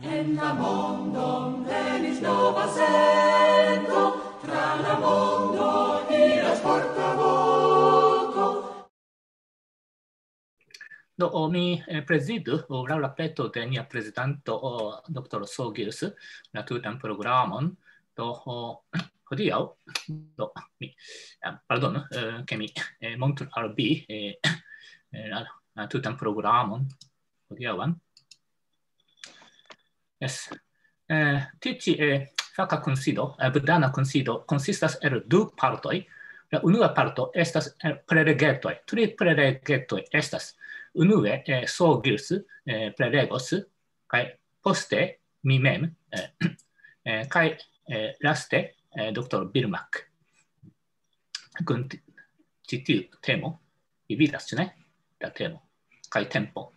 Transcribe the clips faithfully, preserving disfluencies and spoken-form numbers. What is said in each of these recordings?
En la mondon venis nova sento, tra la mondo iras portavoko. Do, o, mi, eh, prezidu, o, laŭ la peto de nia prezidanto, o, Dr. Sogils, la tutan programon. Do, o, hodiaŭ, do, mi, eh, pardonu, eh, ke mi, eh, montru al vi, eh, eh, la, la tutan programon hodiaŭan. Yes. Eh, tiu ĉi, eh, faka kunsido, eh, budhana kunsido, konsistas el du partoj. La unua parto estas, eh, prelegetoj. Tri prelegetoj estas. Unue, eh, Sogils, eh, prelegos, kaj poste mi mem, eh, eh, kaj, eh, laste, eh, Dr. Birmak. Kun ti-, ĉi tiu temo, vi vidas, ĉu ne? La temo. Kaj tempo.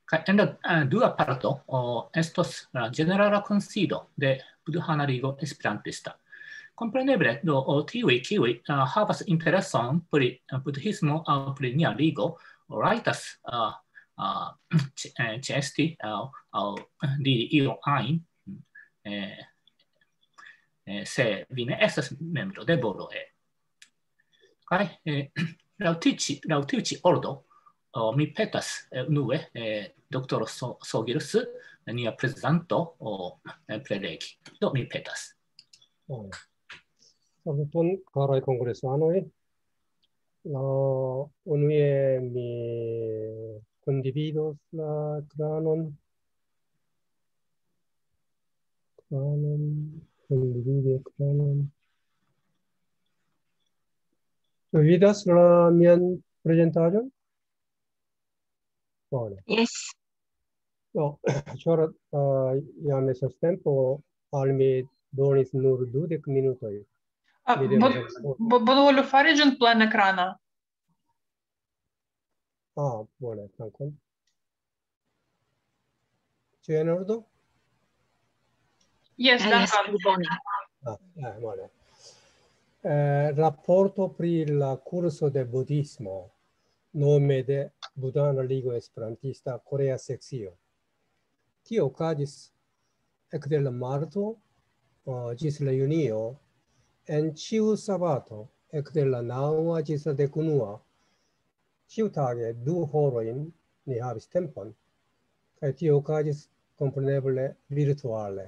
Kaj en la, eh, dua parto, o, estos la ĝenerala kunsido de Budhana Ligo Esperantista. Kompreneble, do, o, tiuj, kiuj, eh, havas intereson pri, eh, budhismo aŭ pri nia ligo, rajtas, eh, eh, ĉe-, eh, ĉeesti aŭ, aŭ diri io ajn, eh, eh, se vi ne estas membro de Bodo E. Kaj, eh, laŭ tiu ĉi, laŭ tiu ĉi ordo, o, mi petas, eh, unue, eh, Dr. So-, Sogils, nia prezidanto, o, eh, prelegi. Do, mi petas. Bone. Saluton, karaj kongresanoj. La, unue mi kundividos la ekranon. Ekranon, kondividi ekranon. Vi vidas la mian prezentaĵon? Bone. Yes. Do, ĉar, eh, jam estas tempo, al mi donis nur dudek minutoj. Ah, Mi devas bo-, esplori. Bo-, bonvolu fari ĝin plenekrana. Ah, bone, dankon. Ĉu en ordo? Yes, Ah, yes, dankon. Pli bone. Ah, eh, bone. Eh, raporto pri la kurso de budhismo, nome de Budhana Ligo Esperantista Korea Sekcio. Tio okazis ekde la marto, eh, ĝis la junio, en ĉiu sabato, ekde la naŭa ĝis la dekunua. Ĉiutage du horojn ni havis tempon, kaj tio okazis kompreneble virtuale.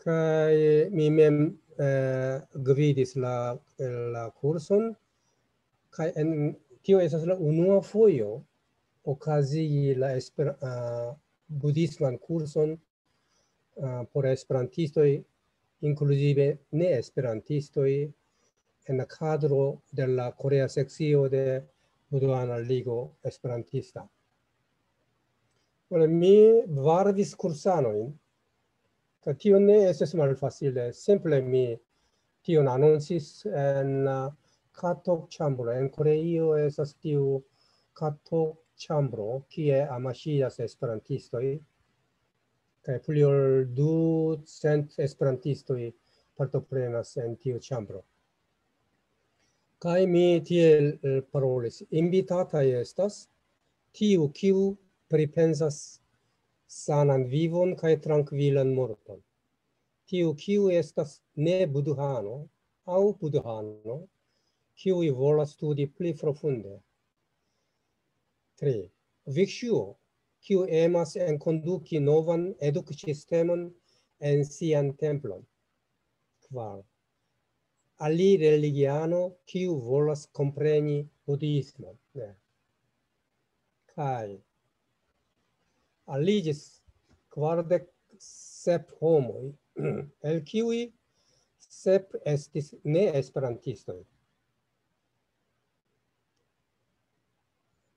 Kaj mi mem, eh, gvidis la, la kurson, kaj en, tio estas la unua fojo okazigi la esper-, ah, budhisman kurson, ah, por esperantistoj, inkluzive ne esperantistoj, en la kadro de la Korea Sekcio de Budhana Ligo Esperantista. Bone, mi varvis kursanojn, kaj tio ne estis malfacile. Simple mi tion anoncis en, ah, Katok ĉambro. En Koreio estas tiu Katok ĉambro, kie amaŝiĝas esperantistoj, kaj pli ol ducent esperantistoj partoprenas en tiu ĉambro. Kaj mi tiel, eh, parolis: "Invitataj estas tiu, kiu pripensas sanan vivon kaj trankvilan morton. Tiu, kiu estas ne budhano aŭ budhano, kiuj volas studi pli profunde." Tri. Bhikkšuo, kiu emas enkonduki novan eduksistemon en sian templon. Kvar. Alireligiano, kiu volas kompreni budhismon. Ne. Kaj aliĝis kvardek sep homoj, el kiuj sep estis ne esperantistoj.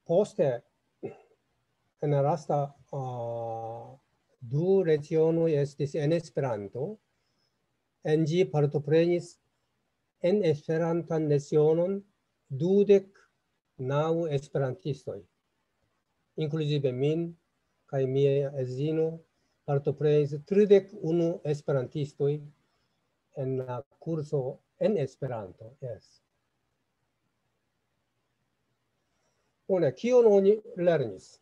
Poste, en la lasta, ah, du lecionoj estis en Esperanto, en ĝi partoprenis en Esperantan lecionon dudek naŭ esperantistoj, inkluzive min kaj mia edzino, partoprenis tridek unu esperantistoj en la kurso en Esperanto. Yes. Bone, kion oni lernis?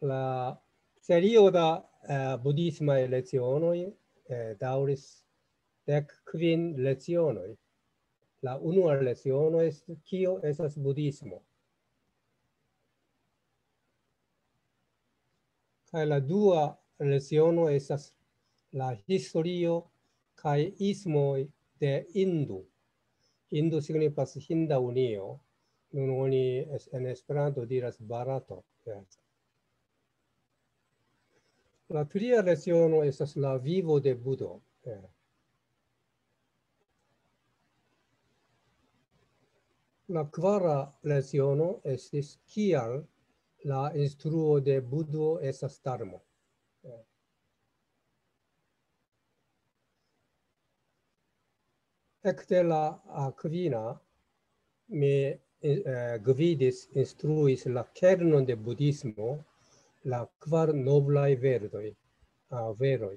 La serio da, eh, budhismaj lecionoj, eh, daŭris dek kvin lecionoj. La unua leciono estas, kio estas budhismo. Kaj la dua leciono estas la historio kaj ismoj de Hindu. Hindu signifas Hinda Unio. Nun oni es-, en Esperanto diras Barato. Ja. La tria leciono estas la vivo de Budo. Ja. La kvara leciono estis kial la instruo de Budo estas Dharmo. Ja. Ekde la, ah, kvina mi, eh, gvidis, instruis la kernon de budhismo, la kvar noblaj verdoj, ah, veroj.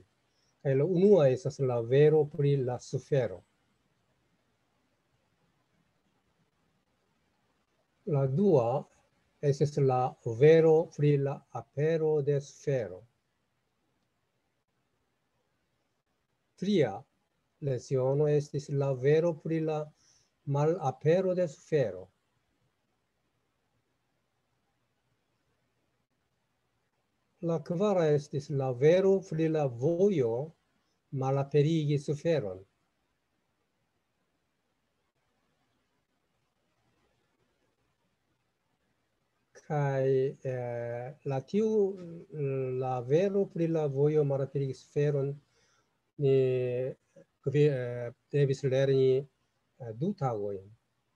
Kaj la unua estas la vero pri la sufero. La dua estas la vero pri la apero de sufero. Tria leciono estis la vero pri la malapero de sufero. La kvara estis la vero pri la vojo malaperigi suferon. Kaj, eh, la tiu, la vero pri la vojo malaperigi suferon ni gvi-, eh, devis lerni, eh, du tagojn.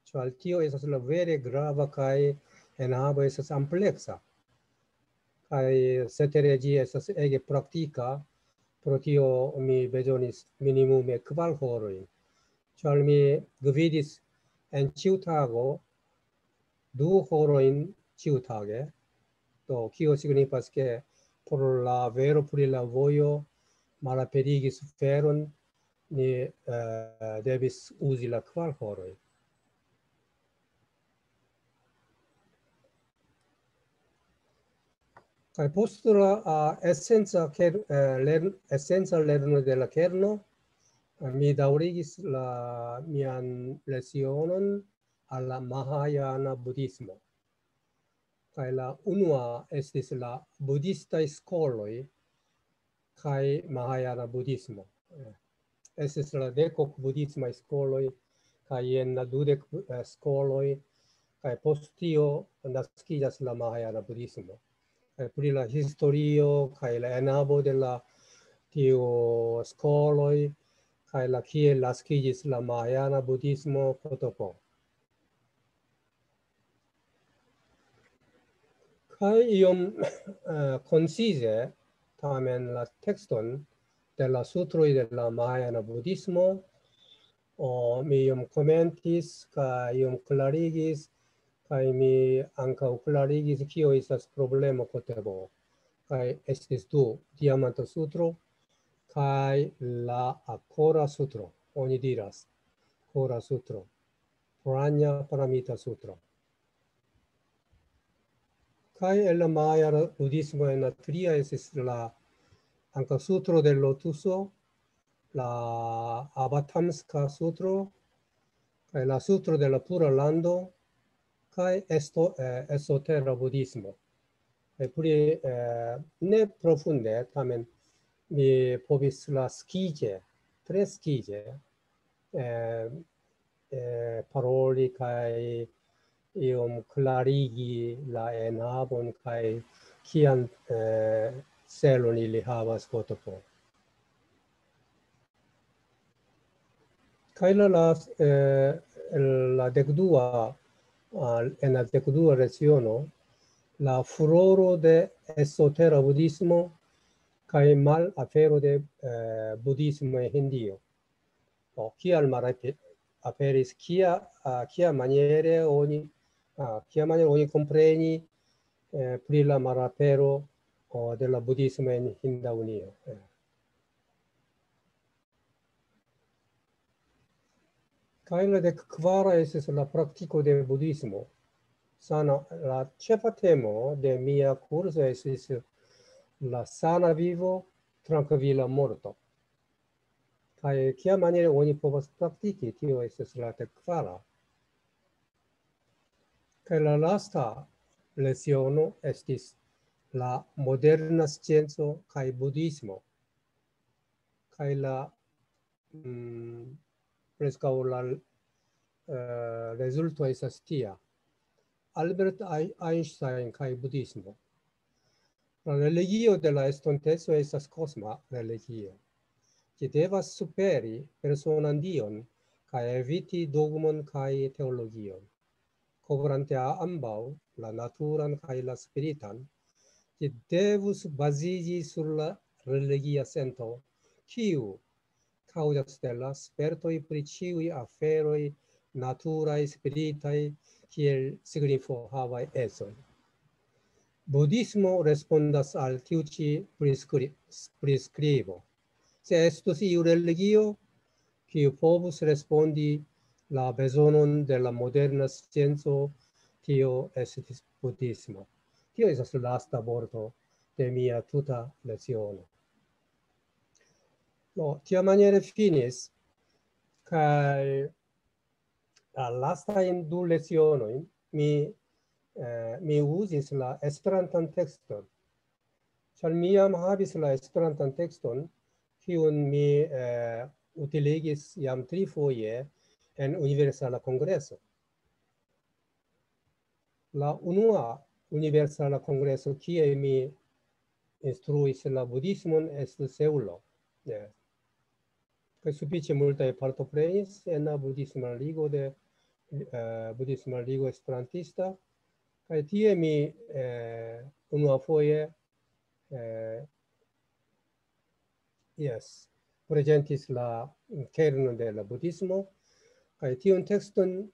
Ĉar tio estas la vere grava kaj enhavo estas ampleksa. Kaj cetere ĝi estas ege praktika, pro tio mi bezonis minimume kvar horojn. Ĉar mi gvidis en ĉiu tago du horojn ĉiutage. Do, kio signifas, ke por la vero pri la vojo malaperigi suferon, ni, eh, devis uzi la kvar horoj. Kaj post la, ah, esenca ker-, eh, lern-, esenca lerno de la kerno, eh, mi daŭrigis la, mian lecionon al la Mahajana budhismo. Kaj la unua estis la budhistaj skoloj kaj Mahajana budhismo. Eh, estis la dek ok budhismaj skoloj, kaj jen la dudek, eh, skoloj, kaj post tio naskiĝas la Mahajana budhismo. Kaj pri la historio, kaj la enhavo de la tiu skoloj, kaj la kiel naskiĝis la Mahajana budhismo, Kotopo. Kaj iom, eh, koncize, tamen la tekston de la sutroj de la Mahajana budhismo, o, mi iom komentis, kaj iom klarigis, kaj mi ankaŭ klarigis, kio estas problemo Kotopo. Kaj estis du, Diamanta Sutro, kaj la Akora Sutro, oni diras, Akora Sutro, Prajna Paramita Sutro. Kaj el la Maja budhismo en la tria estis la ankaŭ Sutro de Lotuso, la Abatamska Sutro, kaj la Sutro de la Pura Lando, kaj esto-, eh, Esotera budhismo. Kaj pri, eh, ne profunde, tamen mi povis la skize, tre skize, eh, eh, paroli kaj iom klarigi la enhavon kaj kian, eh, celon ili havas Kotopo. Kaj la, la, eh, la dekdua, ah, en la dekdua leciono, la furoro de esotera budhismo kaj malapero de, eh, budhismo en Hindio. Do, kial malape-, aperis, kia, ah, kia maniere oni, ah, kia maniere oni kompreni, eh, pri la malapero, o, de la budhismo en Hinda Unio. Eh. Kaj la dek kvara estis la praktiko de budhismo. sana, la ĉefa temo de mia kurso estis la sana vivo, trankvila morto. Kaj kia maniere oni povas praktiki, tio estis la dek kvara. Kaj la lasta leciono estis la moderna scienco kaj budhismo. Kaj la, mm, preskaŭ la, eh, rezulto estas tia. Albert Ei-, Einstein kaj budhismo. La religio de la estonteco estas kosma religio. Ĝi devas superi personan dion kaj eviti dogmon kaj teologion. Kovrante a-, ambaŭ, la naturan kaj la spiritan, ĝi devus baziĝi sur la religia sento, kiu kaŭzas de la spertoj pri ĉiuj aferoj naturaj, spiritaj, kiel signifo havaj ecoj. Budhismo respondas al tiu ĉi priskri-, priskribo. Se estus iu religio, kiu povus respondi la bezonon de la moderna scienco, tio estis budhismo. Tio estas la lasta vorto de mia tuta leciono. No, tiamaniere finis, kaj la lastajn du lecionojn mi, eh, mi uzis la Esperantan tekston. Ĉar mi jam havis la Esperantan tekston, kiun mi, eh, utiligis jam trifoje en Universala Kongreso. La unua Universala Kongreso, kie mi instruis la budhismon, estis Seulo. Ne. Kaj sufiĉe multaj partoprenis en la budhisma ligo de, eh, budhisma ligo esperantista. Kaj tie mi, eh, unuafoje, eh, yes, prezentis la kernon de la budhismo. Kaj tiun tekston,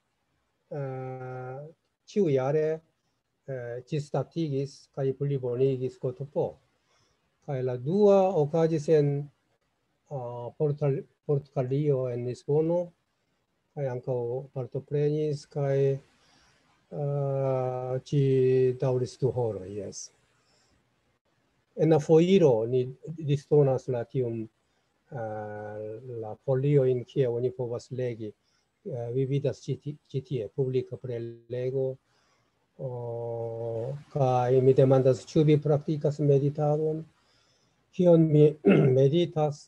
eh, ĉiujare, eh, ĝisdatigis kaj plibonigis Gotopo. Kaj la dua okazis en, ah, Portal-, Portugalio, en Lisbono, kaj ankaŭ partoprenis, kaj, ah, ĝi daŭris du horoj, jes. En la foiro ni disdonas la tiun, ah, la foliojn, kie oni povas legi. Eh, vi vidas ĉi ti-, ĉi tie, publika prelego. O, kaj mi demandas, ĉu vi praktikas meditadon? Kion mi meditas?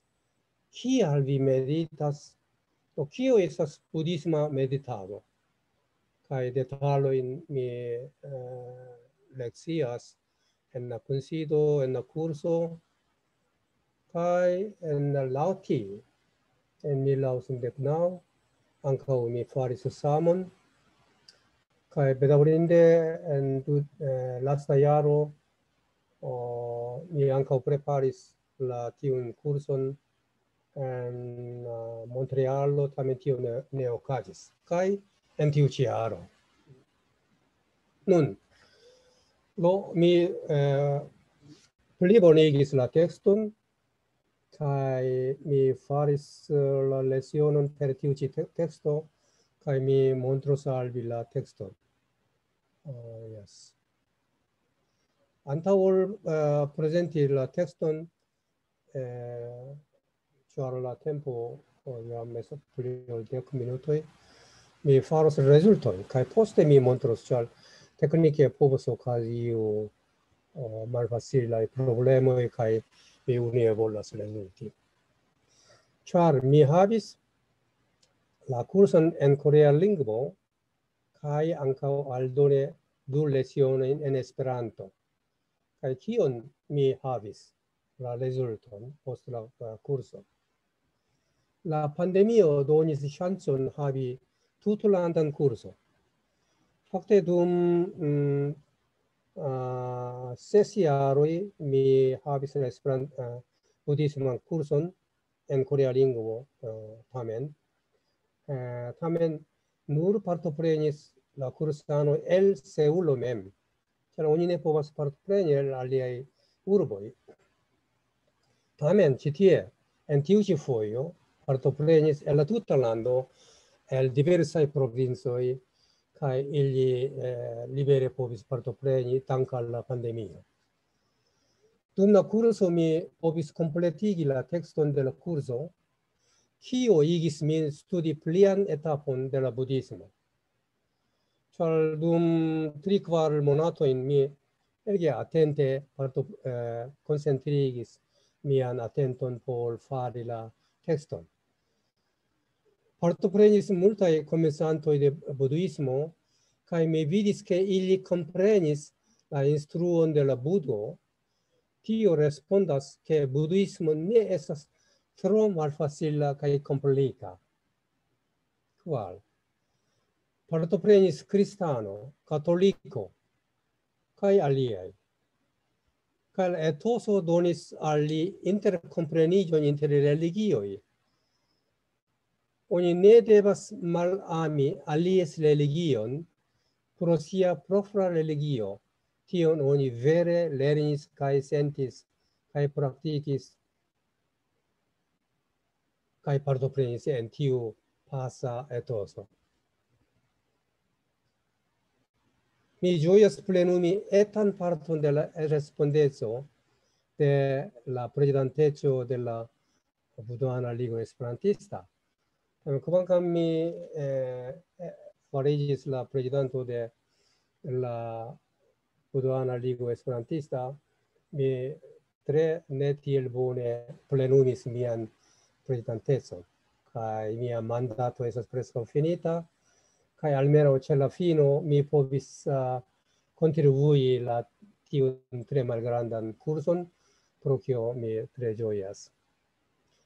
Kial vi meditas? Do, kio estas budhisma meditado? Kaj detalojn mi, eh, lekcias en la kunsido, en la kurso, kaj en la Lauti, en mil naŭcent dek naŭ, ankaŭ mi faris samon. Kaj bedaŭrinde en du-, eh, lasta jaro, o, mi ankaŭ preparis la tiun kurson en, eh, Montrealo, tamen tio ne, ne okazis. Kaj en tiu ĉi jaro. Nun, do, mi, eh, plibonigis la tekston, kaj mi faris, eh, la lecionon per tiu ĉi te-, teksto, kaj mi montros al vi la tekston. Ah, yes. Antaŭ ol, eh, prezenti la tekston, eh, ĉar la tempo, oh, jam estas pli ol dek minutoj, mi faros rezultojn, kaj poste mi montros, ĉar teknike povas okazi iu, oh, malfacilaj problemoj, kaj mi unie volas rezulti. Ĉar mi havis la kurson en korea lingvo, kaj ankaŭ aldone du lecionojn en Esperanto. Kaj kion mi havis la rezulton post la, la kurso? La pandemio donis ŝancon havi tutlandan kurson. Fakte dum, mm, ah, ses jaroj mi havis la Esperan-, ah, budhisman kurson en korea lingvo, eh, tamen. Eh, tamen nur partoprenis la kursanoj el Seulo mem, ĉar oni ne povas partopreni el aliaj urboj. Tamen ĉi tie, en tiu ĉi fojo, partoprenis el la tuta lando, el diversaj provincoj, kaj ili, eh, libere povis partopreni tanke al la pandemio. Dum la kurso mi povis kompletigi la tekston de la kurso, kio igis min studi plian etapon de la budhismo. Ĉar dum tri, kvar monatojn mi ege atente parto-, eh, koncentrigis mian atenton por fari la tekston. Partoprenis multaj komencantoj de budhismo, kaj mi vidis, ke ili komprenis la instruon de la Budo. Tio respondas, ke budhismo ne estas tro malfacila kaj komplika. Kvar. Partoprenis kristano, katoliko, kaj aliaj. Kaj la etoso donis al li interkompreniĝon inter religioj. Oni ne devas malami alies religion pro sia propra religio. Tion oni vere lernis kaj sentis kaj praktikis kaj partoprenis en tiu pasa etoso. Mi ĝojas plenumi etan parton de la respondeco de la prezidanteco de la Budhana Ligo Esperantista. Tamen, kvankam mi, eh, eh, fariĝis la prezidanto de la Budhana Ligo Esperantista, mi tre ne tiel bone plenumis mian prezidantecon, kaj mia mandato estas preskaŭ finita, kaj almenaŭ ĉe la fino mi povis, ah, kontribui la tiun tre malgrandan kurson, pro kio mi tre ĝojas.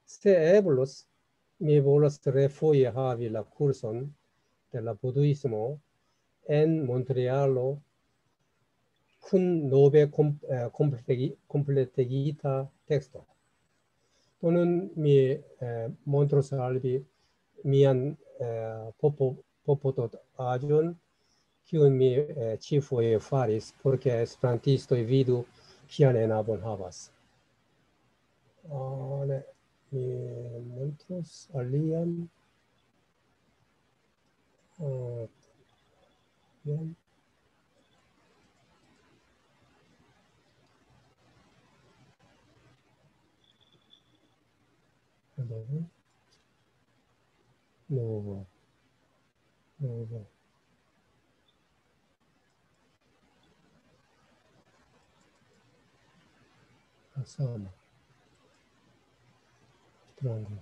Se eblus, mi volas refoje havi la kurson de la budhismo en Montrealo kun nove kom-, eh, kompletigi-, kompletigita teksto. Do nun mi, eh, montros al vi mian, eh, popo-, popototaĵon, kiun mi, eh, ĉifoje faris, por ke esperantistoj vidu, kian enhavon havas. Ah, ne, mi montros alian. Ah, jen. Hello. Novo. Novo. Asama. Strango.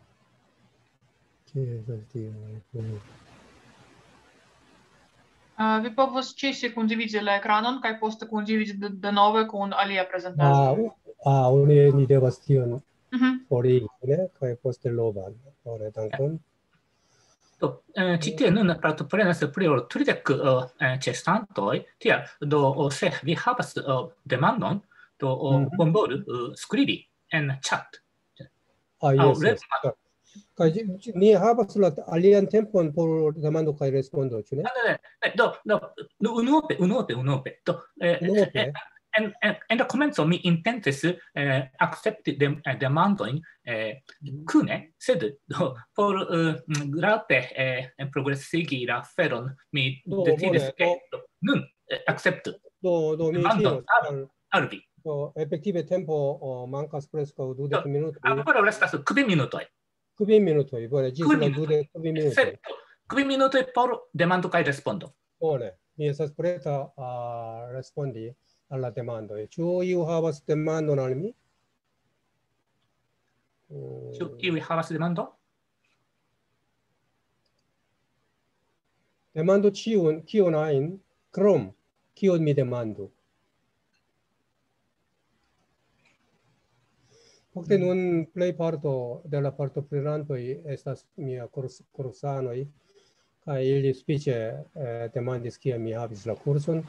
Kie estas tio? Ah, vi povos ĉesi kondividi la ekranon kaj poste kondividi de, denove kun alia prezentaĵo. Ah, u-, ah, oni, ni devas tion Mhm. forigi, ne? Kaj poste novan. Bone, dankon. Do, eh, ĉi tie nun partoprenas pli ol tridek, eh, eh, ĉeestantoj. Tial, do, o, se vi havas, eh, demandon, do, o, Mhm. bonvolu, eh, skribi en chat. Ah, Aŭ jes, res-, jes. Kaj ĝi, ĝi, ni havas la alian tempon por demando kaj respondo, ĉu ne? Ah, ne, ne, ne, do, do, do, unuope, unuope, unuope. Do, eh, Unuope? eh, en, en, en la komenco mi intencis, eh, akcepti dem-, eh, demandojn, eh, Mhm. kune, sed do, por, eh, grape, eh, progresigi la aferon, mi Do, decidis, bone, ke do. do, nun, eh, akceptu Do, do, mi demandon diros, al, al, al vi. Do, efektive tempo, o, mankas preskaŭ dudek Do, minutoj. Ankoraŭ restas kvin minutoj. Kvin minutoj, bone, ĝis Kvin la minutoj. dudek kvin minutoj. Sed kvin minutoj por demando kaj respondo. Bone, mi estas preta, a, respondi al la demandoj. Ĉu iu havas demandon al mi? Mm. Ĉu iu havas demandon? Demandu ĉiun, kion ajn, krom, kion mi demandu. Fakte nun plej parto de la partoprenantoj estas mia kurs-, kursanoj, kaj ili sufiĉe, eh, demandis, kiam mi havis la kurson,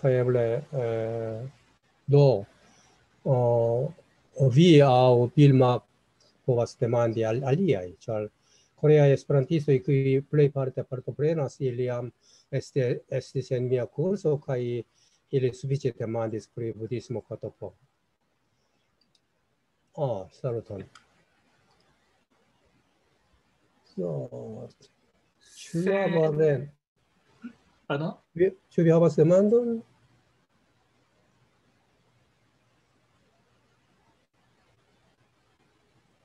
kaj eble, eh, do, o, o vi aŭ Vilma povas demandi al aliaj, ĉar koreaj esperantistoj, kiuj plejparte partoprenas, ili jam este-, estis en mia kurso, kaj ili sufiĉe demandis pri budhismo katopo. Ah, saluton. So, ĉu Se- la vorren-, Pardon? Vi- Ĉu vi havas demandon?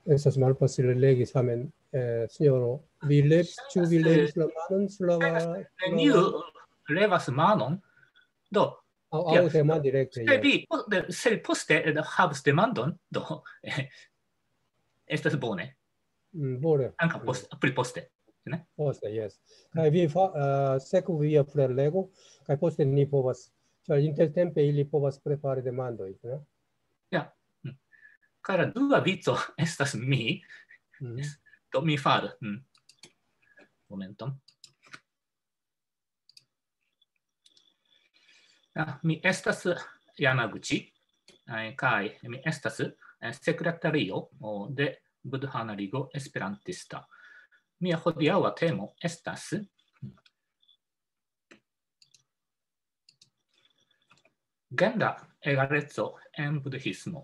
Estas malfacile legi, tamen, eh, sinjoro, vi le-, ĉu vi levis la manon sur la... Neniu levas manon. Do, Aŭ, aŭ tema direkte, se jes. vi, po- de- se vi poste eh, havas demandon, do, eh, estas bone. Mm, bone. Ankaŭ post, pli poste. Poste, jes. Kaj vi fa-, eh, sekvu via prelego, kaj poste ni povas, ĉar intertempe ili povas prepari demandoj, ne? Ja. Mm. Kaj la dua vico estas mi. Mhm. Do mi faru. Mm. Momenton. Ja, mi estas Yamaguchi, eh, kaj mi estas eh, sekretario o, de Budhana Ligo Esperantista. Mia hodiaŭa temo estas genra egaleco en budhismo.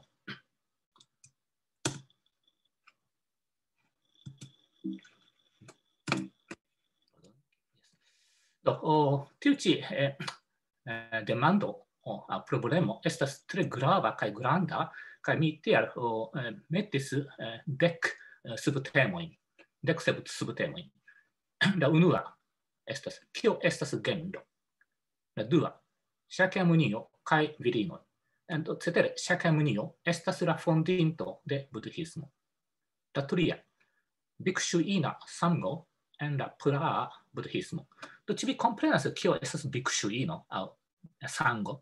Do, o, tiu ĉi eh, eh, demando o, a problemo estas tre grava kaj granda, kaj mi tial o, eh, metis eh, dek eh, subtemojn, dek sub- subtemojn. La unua estas, kio estas genro? La dua, Shakyamunio kaj virinoj. En- Cetere, Shakyamunio estas la fondinto de budhismo. La tria, bhikshuina sango en la praa budhismo. Do, ĉu vi komprenas, kio estas bhikshuino aŭ sango?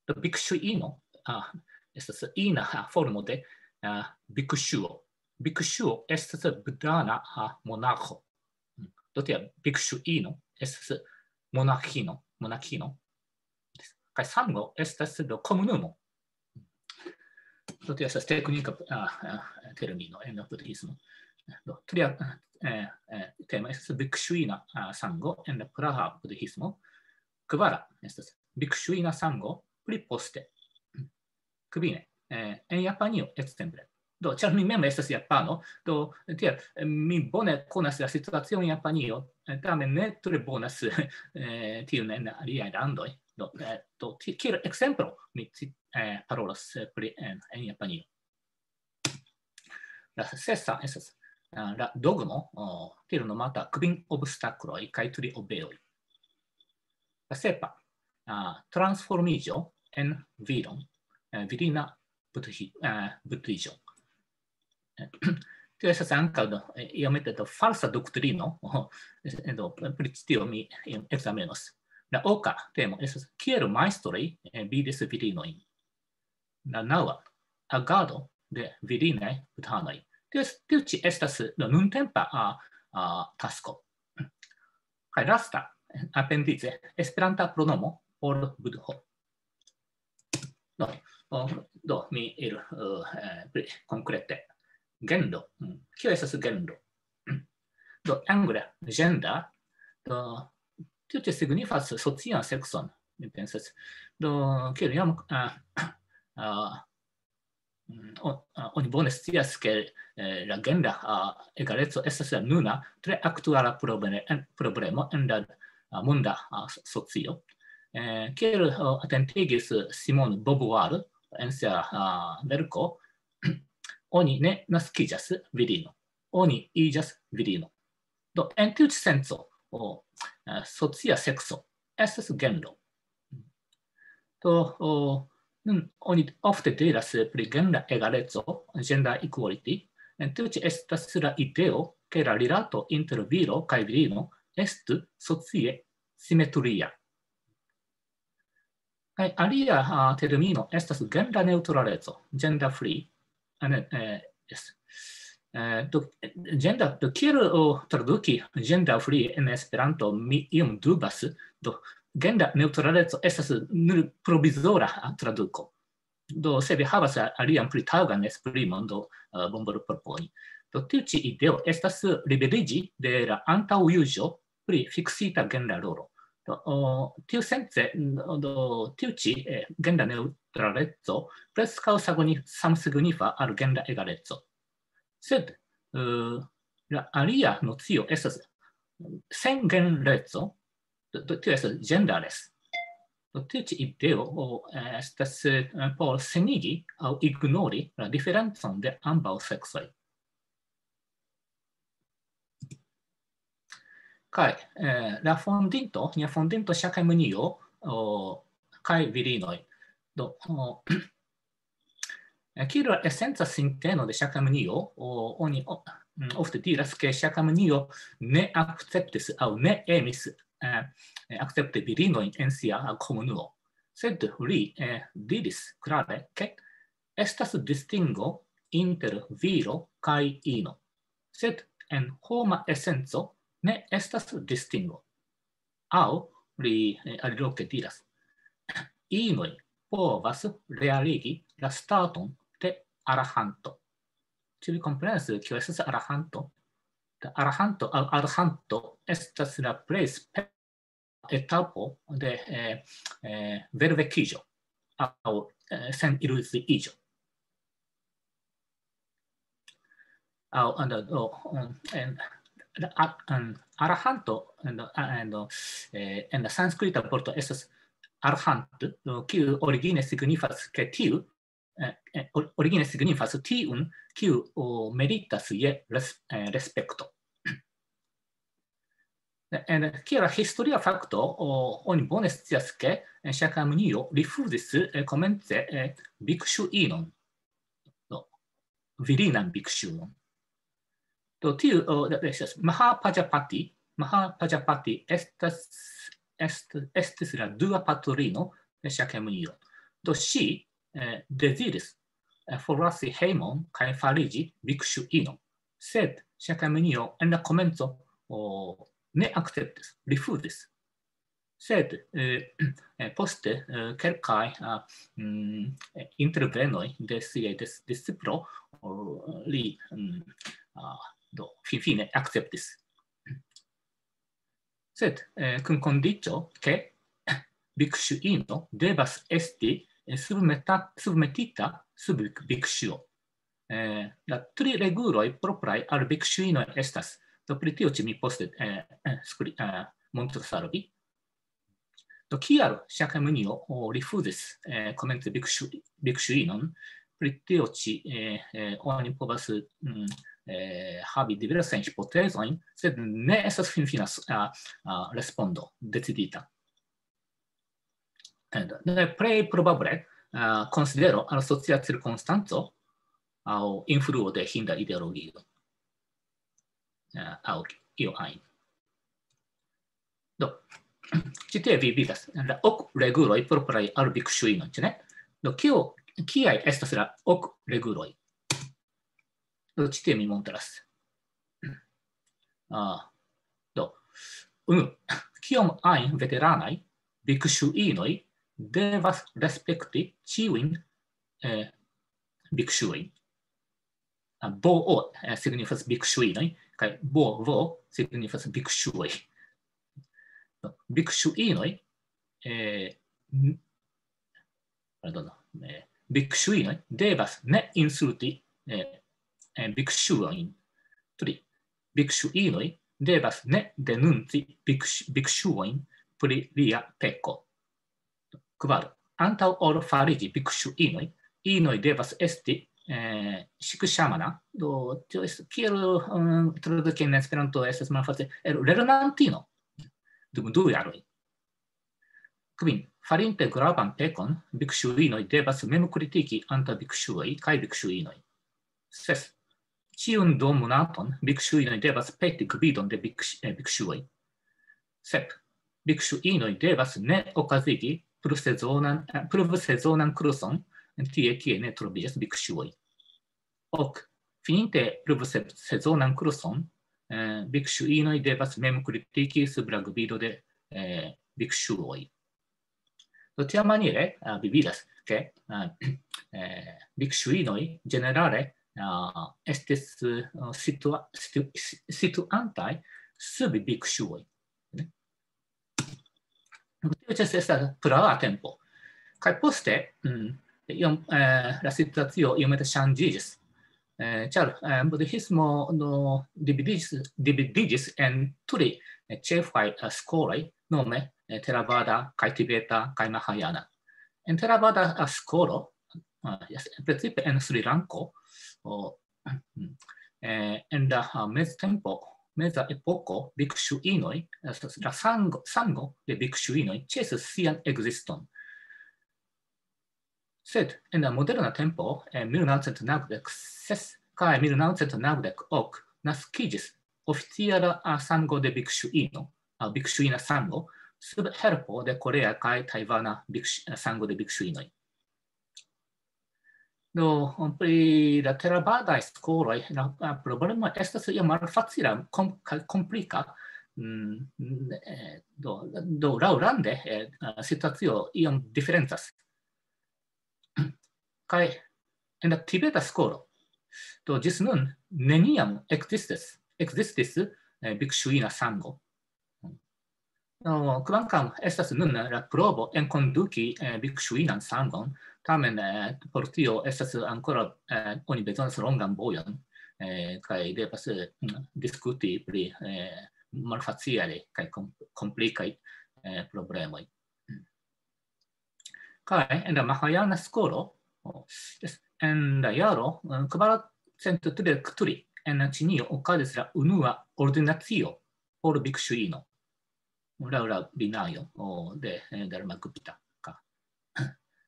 Do, bhikshuino ah, estas ina ah, formo de ah, bhikshuo. Bhikshuo estas budhana ah, monaĥo. Do, tia bhikshuino estas monaĥino, monaĥino. Kaj sango estas do komunumo. Do, tio estas teknika ah, ah, termino en la budhismo. Do, tria ah, eh, eh, tema estas bhikshuina ah, sango en la praa budhismo. Kvara estas bhikshuina sango pli poste. Kvine, eh, en Japanio, ekzemple. Do, ĉar mi mem estas japano, do, tiel, eh, mi bone konas la situacion en Japanio, eh, tamen ne tre bonas eh, tiun en aliaj landoj. Do, eh, do ti- kiel ekzemplo mi ci- eh, parolas eh, pri en, en Japanio. La sesa estas ah, la dogmo, o, tiel nomata kvin obstakloj kaj tri obeoj. La sepa, ah, transformiĝo en viron, eh, virina budhi- eh, budhiĝo. Eh, Tio estas ankaŭ do, eh, iomete do falsa doktrino, o, eh, do, pri tio mi iom ekzamenos. La oka temo estas kiel majstroj eh, vidis virinojn. La naŭa, agado de virinaj budhanoj. Tio es- Tiu ĉi estas la nuntempa ah, ah, tasko. Kaj lasta, apendice, esperanta pronomo por budho. Do, o, do mi iru eh, eh, pli konkrete. Genro. Mm. Kio estas genro? Do, angle, gender, do, tio ĉi signifas socian sekson, mi pensas. Do, kiel jam ah, ah, mm, o- ah, oni bone scias, ke eh, la genra ah, egaleco estas la nuna tre aktuala probleme- en- problemo en la ah, monda ah, so- socio. Eh, Kiel ah, atentigis Simone Beauvoir en sia ah, verko, oni ne naskiĝas virino, oni iĝas virino. Do, en tiu ĉi senco, o, eh, socia sekso estas genro. Do, o, nun oni ofte diras pri genra egaleco, gender equality, en tiu ĉi estas la ideo, ke la rilato inter viro kaj virino estu socie simetria. Kaj alia ah, termino estas genra neŭtraleco, gender free. Ah, ne, eh, yes. Eh, do, gender, do kiel o, traduki gender free en Esperanto, mi iom dubas. Do, genra neŭtraleco estas nur provizora ah, traduko. Do, se vi havas ah, alian pli taŭgan esprimon, do uh, bonvolu proponi. Do, tiu ĉi ideo estas liberiĝi de la antaŭjuĝo pri fiksita genra rolo. Do, o, tiu sence, do, tiu ĉi eh, genra neŭtraleco preskaŭ sagoni- samsignifa al genra egaleco. Sed eh, la alia nocio estas sen genreco, Do, do, tio estas ĝendares. Do, tiu ĉi ideo, o, estas, eh, por senigi aŭ ignori la diferencon de ambaŭ seksoj. Kaj, eh, la fondinto, nia fondinto Ŝakjamunio, o, kaj virinoj. Do, o, eh, kiel la esenca sinteno de Ŝakjamunio, o, oni, o, mm, ofte diras, ke Ŝakjamunio ne akceptis aŭ ne emis, eh, akcepti virinojn en sia komunumo. Sed li, eh, diris klare, ke estas distingo inter viro kaj ino. Sed en homa esenco ne estas distingo. Aŭ li, eh, aliloke diras, inoj povas realigi la staton de arahanto. Ĉu vi komprenas, kio estas arahanto? La arahanto aŭ arhanto estas la plej spe-, etapo de, eh, eh, velvekiĝo aŭ, eh, seniluziiĝo. Aŭ, and, oh, um, and, a-, um, arahanto, and, and, eh, en la sanskrita vorto estas arhant, eh, kiu origine signifas, ke tiu, eh, eh, or-, origine signifas tiun, kiu, o, meritas je res-, eh, respekto. En kiel historia fakto, o, oni bone scias, ke en Ŝakjamunio rifuzis, eh, komence, eh, bikŝuinon. Do, virinan bikŝuon. Do, tiu, o, da, estas Mahapajapati, Mahapajapati estas, est-, estis la dua patrino de Ŝakjamunio. Do, ŝi, eh, deziris, eh, forlasi hejmon kaj fariĝi bikŝuino. Sed Ŝakjamunio en la komenco, o, ne akceptis, rifuzis. Sed, eh, eh, poste, eh, kelkaj, ah, mm, eh, intervenoj de siaj dis-, disciplo, o, li, mm, ah, do, finfine akceptis. Sed, eh, kun kondiĉo, ke bikŝuino devas esti, eh, submeta-, submetita sub bik-, bikŝuo. Eh, la tri reguloj propraj al bikŝuinoj estas. Do, pri tio ĉi mi poste, eh, eh, skri-, eh, montros al vi. Do, kial Ŝakjamunio, o, rifuzis, eh, komence bikŝu-, bikŝuinon? Pri tio ĉi, eh, eh, oni povas, mm, eh, havi diversajn hipotezojn, sed ne estas finfina s-, a, a, respondo decidita. And, ne, plej probable, a, konsidero al socia cirkonstanco aŭ influo de hinda ideologio. A, aŭ io ajn. Do, ĉi tie vi vidas la ok reguloj propraj al bikŝuinoj, ĉu ne? Do, kio, kiaj estas la ok reguloj? Do, ĉi tie mi montras. Ah, do, unu, kiom ajn veteranaj bikŝuinoj devas respekti ĉiujn, eh, bikŝuojn. Ah, bo o, eh, signifas bikŝuinoj, kaj bo vo signifas bikŝuoj. Do, bikŝuinoj, eh, n-, pardono, eh, bikŝuinoj devas ne insulti, eh, eh, bikŝuojn. Tri, bikŝuinoj devas ne denunci bikŝ-, bikŝuojn pri lia peko. Kvar, antaŭ ol fariĝi bikŝuinoj, inoj devas esti, eh, ŝikŝamana, do, tio estas kiel, um, traduki en Esperanto estas malfacile, el lernantino dum du jaroj. Kvin, farinte gravan pekon, bikŝuinoj devas memkritiki antaŭ bikŝuoj kaj bikŝuinoj. Ses, ĉiun duonmonaton bikŝuinoj devas peti gvidon de bikŝ-, eh, bikŝuoj. Sep, bikŝuinoj devas ne okazigi pluvsezonan, eh, pluvsezonan kurson tie, kie ne troviĝas bikŝuoj. Ok, fininte pluvsezonan kurson, eh, bikŝuinoj devas memkritiki sub la gvido de, eh, bikŝuoj. Do, tiamaniere, eh, vi vidas, ke, eh, eh, bikŝuinoj ĝenerale, eh, estis, eh, situa-, situ-, si-, situantaj sub bikŝuoj. Ne? Tio ĉefe estas praa tempo. Kaj poste, mm, iom, eh, la situacio iomete ŝanĝiĝis. Eh, ĉar, eh, budhismo, no, dividiĝis, dividiĝis en tri, eh, ĉefaj, eh, skoloj, nome, eh, Theravada kaj Tibeta kaj Mahayana. En Theravada, eh, skolo, eh, jes, precipe en Srilanko, o, eh, en la, ah, meztempo, meza epoko, bikŝuinoj, eh, la sango, sango de bikŝuinoj ĉesis sian ekziston. Sed en la moderna tempo, en mil naŭcent naŭdek ses kaj mil naŭcent naŭdek ok, naskiĝis oficiala, ah, sango de bikŝuino, ah, bikŝuina sango, sub helpo de korea kaj tajvana bikŝ-, sango de bikŝuinoj. Do, pri la Theravadaj skoloj, la, la problemo estas iom malfacila, kom-, kaj komplika. Mm, eh, do, do laŭlande, eh, situacio iom diferencas. Kaj en la tibeta skolo, do ĝis nun neniam ekzistis, ekzistis, eh, bikŝuina sango. Do, kvankam estas nun la provo enkonduki, eh, bikŝuinan sangon, tamen, eh, por tio estas ankoraŭ, eh, oni bezonas longan vojon, eh, kaj devas, eh, diskuti pri, eh, malfacilaj kaj kom-, komplikaj, eh, problemoj. Kaj en la Mahajana skolo, o, jes, en la jaro, eh, kvarcent tridek tri en Ĉinio okazis la unua ordinacio por bikŝuino, laŭ la binajo, o, de, eh, Dharmagupta. Ka-,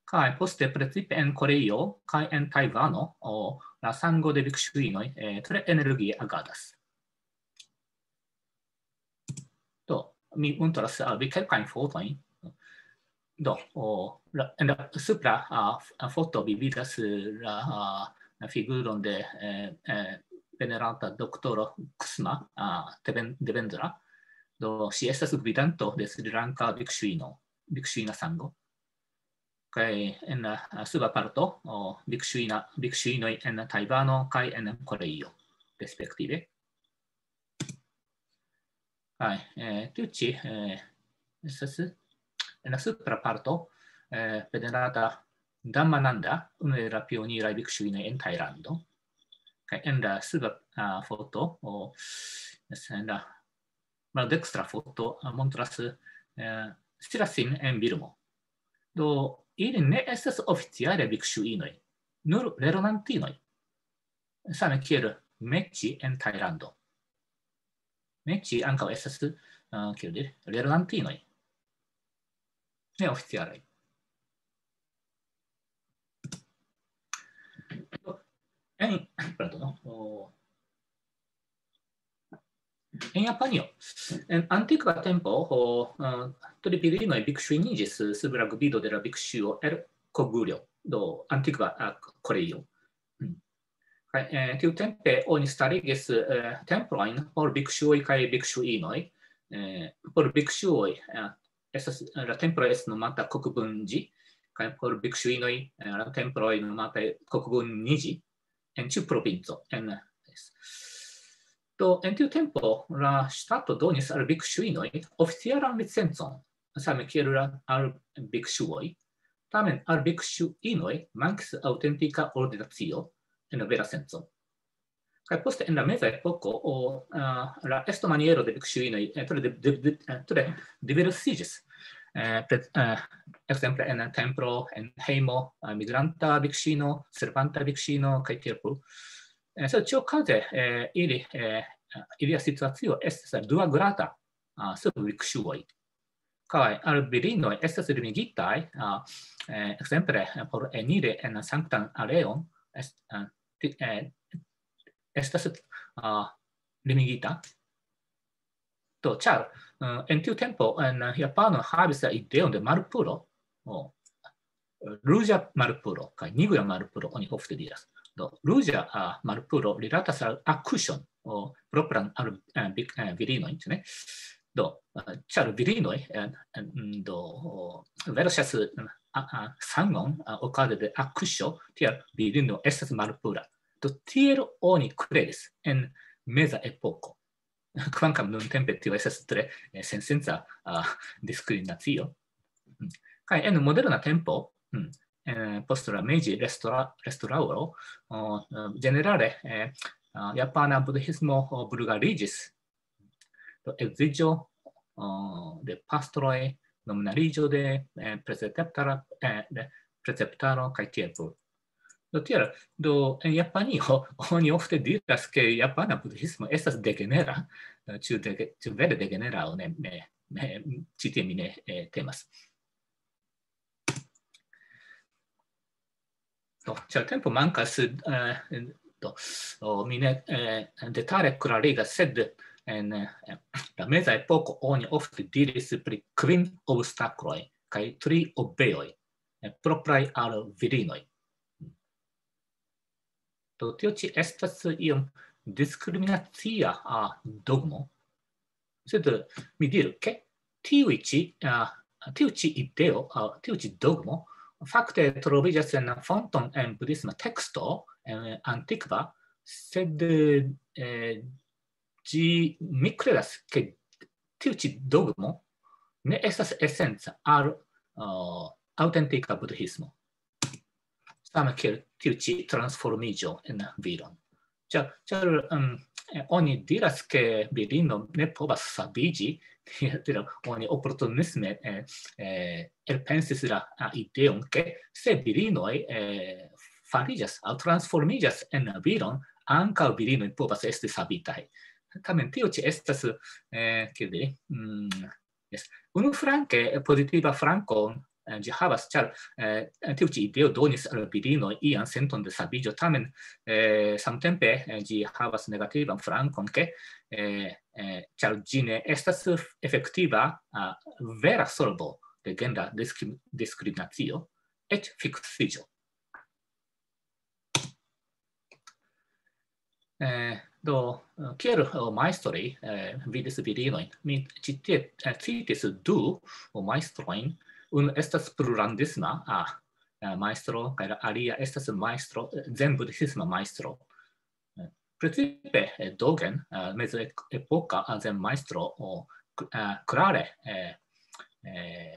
kaj poste precipe en Koreio kaj en Tajvano, o, la sango de bikŝuinoj, eh, tre energie agadas. Do, mi montras al vi kelkajn fotojn. Do, o, la, en la supra, a, f-, a, foto vi vidas, eh, la, a, la figuron de, eh, eh, veneranta doktoro Kusma, a, Deven-, Devendra. Do, ŝi estas gvidanto de Srilanka bikŝuino, bikŝuina sango. Kaj en la, a, suba parto, o, bikŝuina, bikŝuinoj en Tajvano kaj en Koreio, respektive. Kaj, eh, tiu ĉi, eh, estas en la supra parto, eh, venerata Dhammananda, unu el la pioniraj bikŝuinoj en Tajlando. Kaj en la suba, a, foto, o, jes, en la maldekstra foto, a, montras, eh, Sirasin en Birmo. Do, ili ne estas oficiale bikŝuinoj, nur lernantinoj. Same kiel Meĉi en Tajlando. Meĉi ankaŭ estas, a, kiel diri, lernantinoj. Neoficialaj. En, pardono, o, en Japanio, en antikva tempo, o, a, trivirinoj bikŝuiniĝis sub la gvido de la bikŝuo el Kogurjo, do antikva, a, Koreio. Mm. Kaj, eh, tiutempe oni starigis, eh, templojn por bikŝuoj kaj bikŝuinoj. Eh, por bikŝuoj, eh, estas, la templo estas nomata Kokubunji, kaj por bikŝuinoj, eh, la temploj nomata Kokubunji en ĉiu provinco. En, do, en tiu tempo la ŝtato donis al bikŝuinoj oficialan licencon, same kiel la, al bikŝuoj. Tamen al bikŝuinoj mankis aŭtentika ordinacio en la vera senco. Kaj poste en la meza epoko, o, a, la estomaniero de bikŝuinoj, eh, tre di-, di-, di-, eh, tre diversiĝis. Eh, pre-, eh, ekzemple en templo, en hejmo, eh, migranta bikŝuino, servanta bikŝuino, kaj tiel plu. Eh, sed ĉiuokaze, eh, ili, eh, ilia situacio estas duagrada, a, sub bikŝuoj. Kaj al virinoj estas limigitaj, a, eh, ekzemple, eh, por eniri en sanktan areon, est-, eh, ti-, eh, estas, a, limigita. Do, ĉar, eh, en tiu tempo en Japano havis la ideon de malpuro, o, ruĝa malpuro kaj nigra malpuro, oni ofte diras. Do, ruĝa, a, malpuro rilatas al akuŝon, o, propran al, eh, vi-, eh, virinoj, ĉu ne? Do, eh, ĉar virinoj, eh, eh, mm, do, o, verŝas, eh, a, a, sangon, a, okaze de akuŝo, tial virino estas malpura. Do, tiel oni kredis en meza epoko. Kvankam nuntempe tio estas tre, eh, sensenca, a, diskriminacio. Mm. Kaj en moderna tempo, mm, eh, post la Meiji restaura-, restaŭro, o, eh, ĝenerale, eh, a, japana budhismo, o, vulgariĝis. Do, edziĝo, o, de pastroj, nominaliĝo de, eh, preceptara-, eh, de preceptaro kaj tiel plu. Do tiel, do en Japanio oni ofte diras, ke japana budhismo estas degenera, eh, ĉu dege-, ĉu vere degenera aŭ ne, ne, ne, ĉi tie mi ne, eh, temas. Do, ĉar tempo mankas, eh, do, o, mi ne, eh, detale klarigas, sed en, eh, la meza epoko oni ofte diris pri kvin obstakloj kaj tri obeoj, eh, propraj al virinoj. Do tio ĉi estas iom diskriminacia, ah, dogmo, sed, eh, mi diru, ke tiuj ĉi, ah, tiu ĉi ideo, ah, tiu ĉi dogmo, fakte troviĝas en fonton en budhisma teksto, en antikva, sed, eh, ĝi, mi kredas, ke tiu ĉi dogmo ne estas esenca al, ah, aŭtentika budhismo. Same kiel tiu ĉi transformiĝo en viron. Ĉar, ĉar, em, eh, oni diras, ke virino ne povas saviĝi, tiel oni oportunisme, eh, eh, elpensis la, ah, ideon, ke se virinoj, eh, fariĝas aŭ transformiĝas en viron, ankaŭ virinoj povas esti savitaj. Tamen tio ĉi estas, eh, kiel diri, mm, jes. Unuflanke, eh, pozitiva flanko, eh, ĝi havas, ĉar, eh, tiu ĉi ideo donis al virinoj ian senton de saviĝo, tamen, eh, samtempe, eh, ĝi havas negativan flankon, ke, eh, eh, ĉar ĝi ne estas efektiva, ah, vera solvo de genra diskri-, diskriminacio, eĉ fiksiĝo. Eh, do, eh, kiel, eh, majstroj, eh, vidis virinojn? Mi ĉi tie, eh, citis du majstrojn. Unu estas plurlandisma, ah, eh, majstro, kaj la alia estas majstro, eh, zen-budhisma majstro. Eh, precipe, eh, Dogen, eh, mezepoka zen-majstro, o, k-, eh, klare, eh, eh,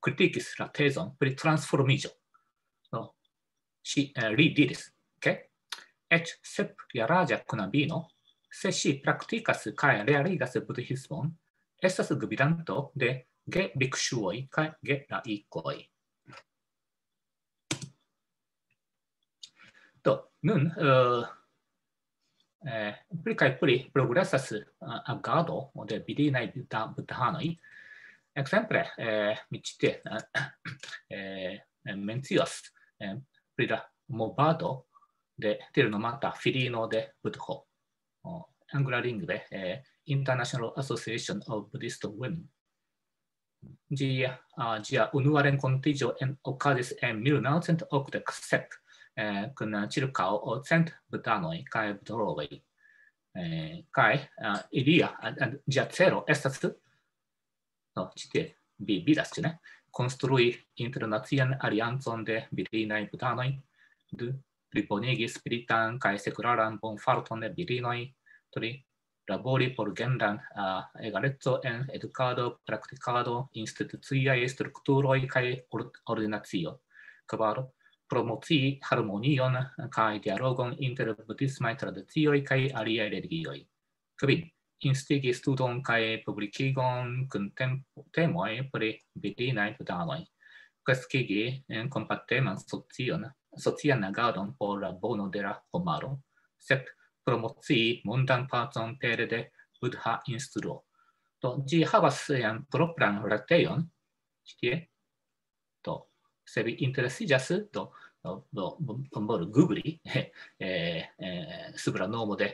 kritikis la tezon pri transformiĝo. Do, ŝi, eh, li diris, ke eĉ sepjaraĝa knabino, se ŝi praktikas kaj realigas budhismon, estas gvidanto de gebikŝuoj kaj gelaikoj. Do, nun, eh, eh, pli kaj pli progresas, eh, agado de virinaj buda-, budhanoj. Ekzemple, eh, mi ĉi tie, eh, eh, mencias, eh, pri la movado de tiel nomata filino de Budho. O, anglalingve, eh, International Association of Buddhist Women. Ĝia, ah, ĝia unua renkontiĝo en, okazis en mil naŭcent okdek sep, eh, kun ĉirkaŭ cent budanoj kaj budroloj. Eh, kaj, ah, ilia, ah, ah, ĝia celo estas, no, ĉi tie vi vidas, ĉu ne? Konstrui internacian aliancon de virinaj budanoj, du, plibonigi spiritan kaj sekularan bonfarton de virinoj, tri, labori por genran, ah, egaleco en edukado, praktikado, instituciaj strukturoj kaj or-, ordinacio. Kvar, promocii harmonion kaj dialogon inter budhismaj tradicioj kaj aliaj religioj. Kvin, instigi studon kaj publikigon kun tem-, temoj pri virinaj budanoj. Kreskigi en kompateman socion, socian agadon por la bono de la homaro. Sep, promocii mondan pacon pere de Buddha instruo. Do, ĝi havas sian propran retejon, ĉi tie. Do, se vi interesiĝas, do, do, do, bonvolu googli, eh, eh, sub la nomo de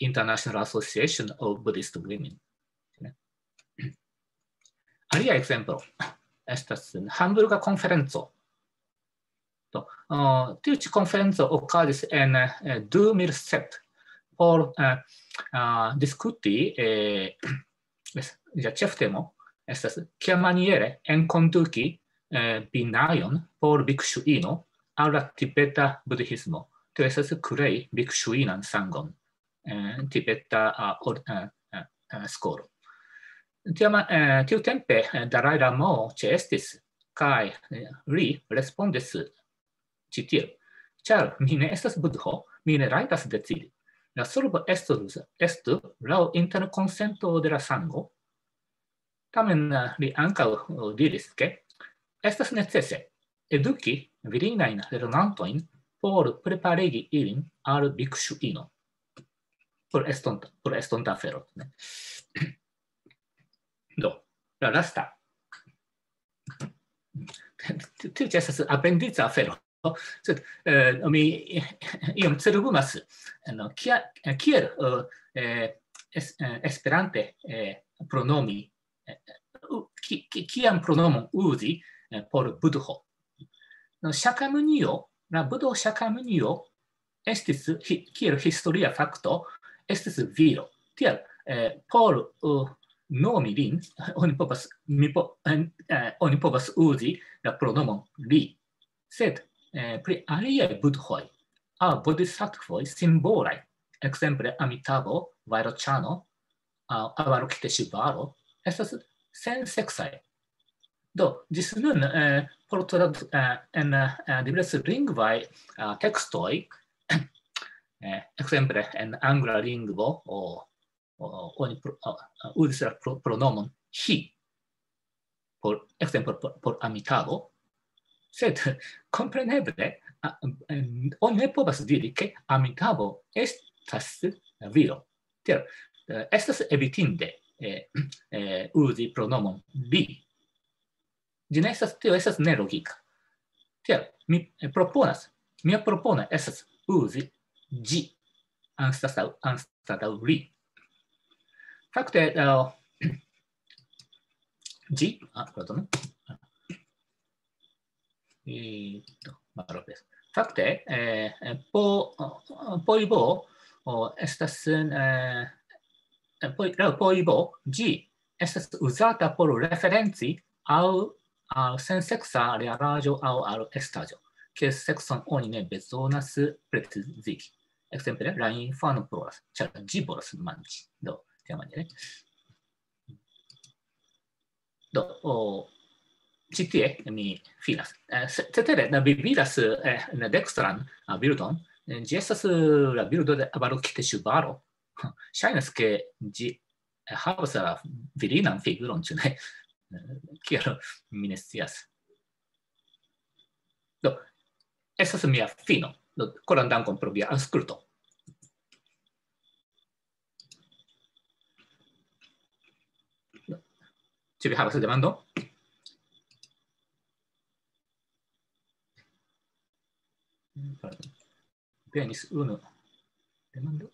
International Association of Buddhist Women. Ne? Alia ekzemplo estas Hamburga konferenco. Do, eh, tiu ĉi konferenco okazis en, eh, du mil sep por, eh, ah, diskuti, eh, es-, la ĉeftemo estas kiamaniere enkonduki, eh, binajon por bikŝuino al la tibeta budhismo. Tio estas krei bikŝuinan sangon, eh, tibeta, ah, or-, eh, eh, eh, skolo. Tiama-, eh, tiutempe, eh, Dalai Lamo ĉeestis, kaj, eh, li respondis ĉi tiel: "Ĉar mi ne estas Budho, mi ne rajtas decidi. La solvo estus, estu laŭ interkonsento de la sango, Tamen, eh, li ankaŭ, eh, diris, ke estas necese eduki virinajn lernantojn por preparigi ilin al bikŝuino. Por estonta, por estonta afero, ne? Do, la lasta. Tiu ĉi estas apendica afero. Sed, eh, mi iom cerbumas, no, kia-, kiel, eh, eh, es-, eh, esperante, eh, pronomi, eh, u-, ki-, ki-, kiam pronomon uzi, eh, por Budho. No, Shakyamunio, la Budho Shakyamunio estis hi-, kiel historia fakto, estis viro. Tial, eh, por, eh, nomi lin, oni povas, mi po-, en-, eh, oni povas uzi la pronomon li. Sed, eh, pri aliaj budhoj aŭ bodhisattvoj simbolaj, ekzemple Amitabho, Vairoĉano, aŭ Avalokiteshvaro, estas senseksaj. Do, ĝis nun, eh, por trad-, eh, en, eh, diversaj lingvaj, eh, tekstoj, eh, ekzemple en angla lingvo, o, o, oni pro-, o, o, uzis la pro-, pronomon he, por, ekzemple por, por Amitabho, sed kompreneble, a, em, oni ne povas diri, ke Amitabho estas viro. Tiel, eh, estas evitinde, eh, eh, uzi pronomon li. Ĝi ne estas, tio estas nelogika. Tiel, mi, eh, proponas, mia propono estas uzi ĝi anstataŭ, anstataŭ li. Fakte, eh, ĝi, ah, pardonu. Eh, do, malofte. Fakte, eh, eh, po, po ibo, o, estas, eh, po, po ibo, ĝi estas uzata por referenci al, al senseksa realaĵo aŭ al estaĵo, kies sekson oni ne bezonas precizigi. Ekzemple, la infano ploras, ĉar ĝi volas manĝi. Do, tiamaniere. Do, o, ĉi tie mi finas. Eh, se-, cetere, la vi vidas, eh, la dekstran, ah, bildon. Eh, ĝi estas, eh, la bildo de Avalokiteshvaro. Ŝajnas, ke ĝi havas la virinan figuron, ĉu ne? Eh, kiel mi ne scias. Do, estas mia fino. Do, koran dankon pro via aŭskulto. Ĉu vi havas demandon? Venis unu demando.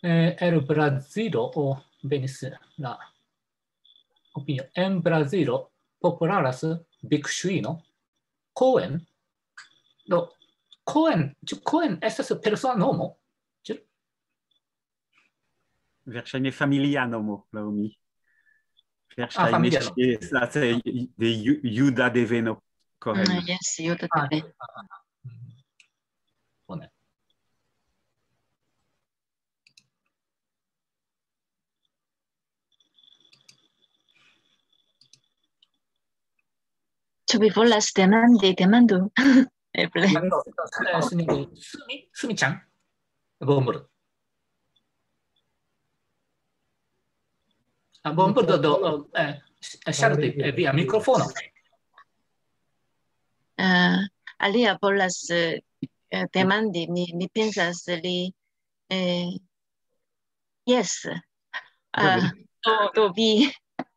Eh, el Brazilo, o, venis la opinio. En Brazilo popularas bikŝuino, Cohen. Do, Cohen, ĉu Cohen estas persona nomo? Ĉu? Verŝajne familia nomo, laŭ mi. Ah, verŝajne familia nomo. Ŝi estas, eh, de ju-, juda deveno, Cohen. Mm, jes, juda, ah, deveno. Ah, ah, ah. Bone. Ĉu vi volas demandi? Demandu. Eble. Ah, do, do, eh, sinjoro Sumi, Sumi-chan. Bonvolu. Ah, bonvolu, do, do, eh, ŝalti, eh, via mikrofono. Eh, alia volas, eh, eh, demandi, mi, mi pensas, li, eh, jes. Ah, do, do, vi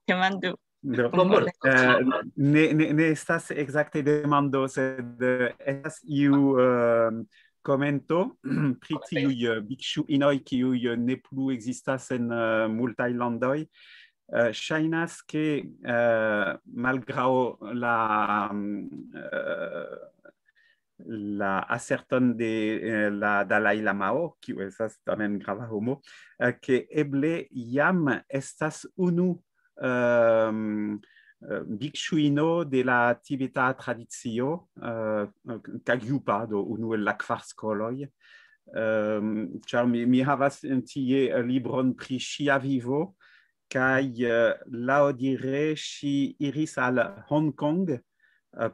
demandu. Do, bonvolu. Eh, ne, ne, ne estas ekzakte demando, sed, eh, estas iu, eh, komento pri tiuj, eh, bikŝuinoj, kiuj, eh, ne plu ekzistas en, eh, multaj landoj. Eh, ŝajnas, ke, eh, malgraŭ la, mm, eh, la aserton de, eh, la Dalai Lamao, kiu estas tamen grava homo, eh, ke eble jam estas unu, ehm, eh, bikŝuino de la tibeta tradicio, eh, Kagyupa, do unu el la kvar skoloj. Ehm, ĉar mi, mi havas tie libron pri ŝia vivo, kaj, eh, laŭdire ŝi iris al Hong Kong, eh,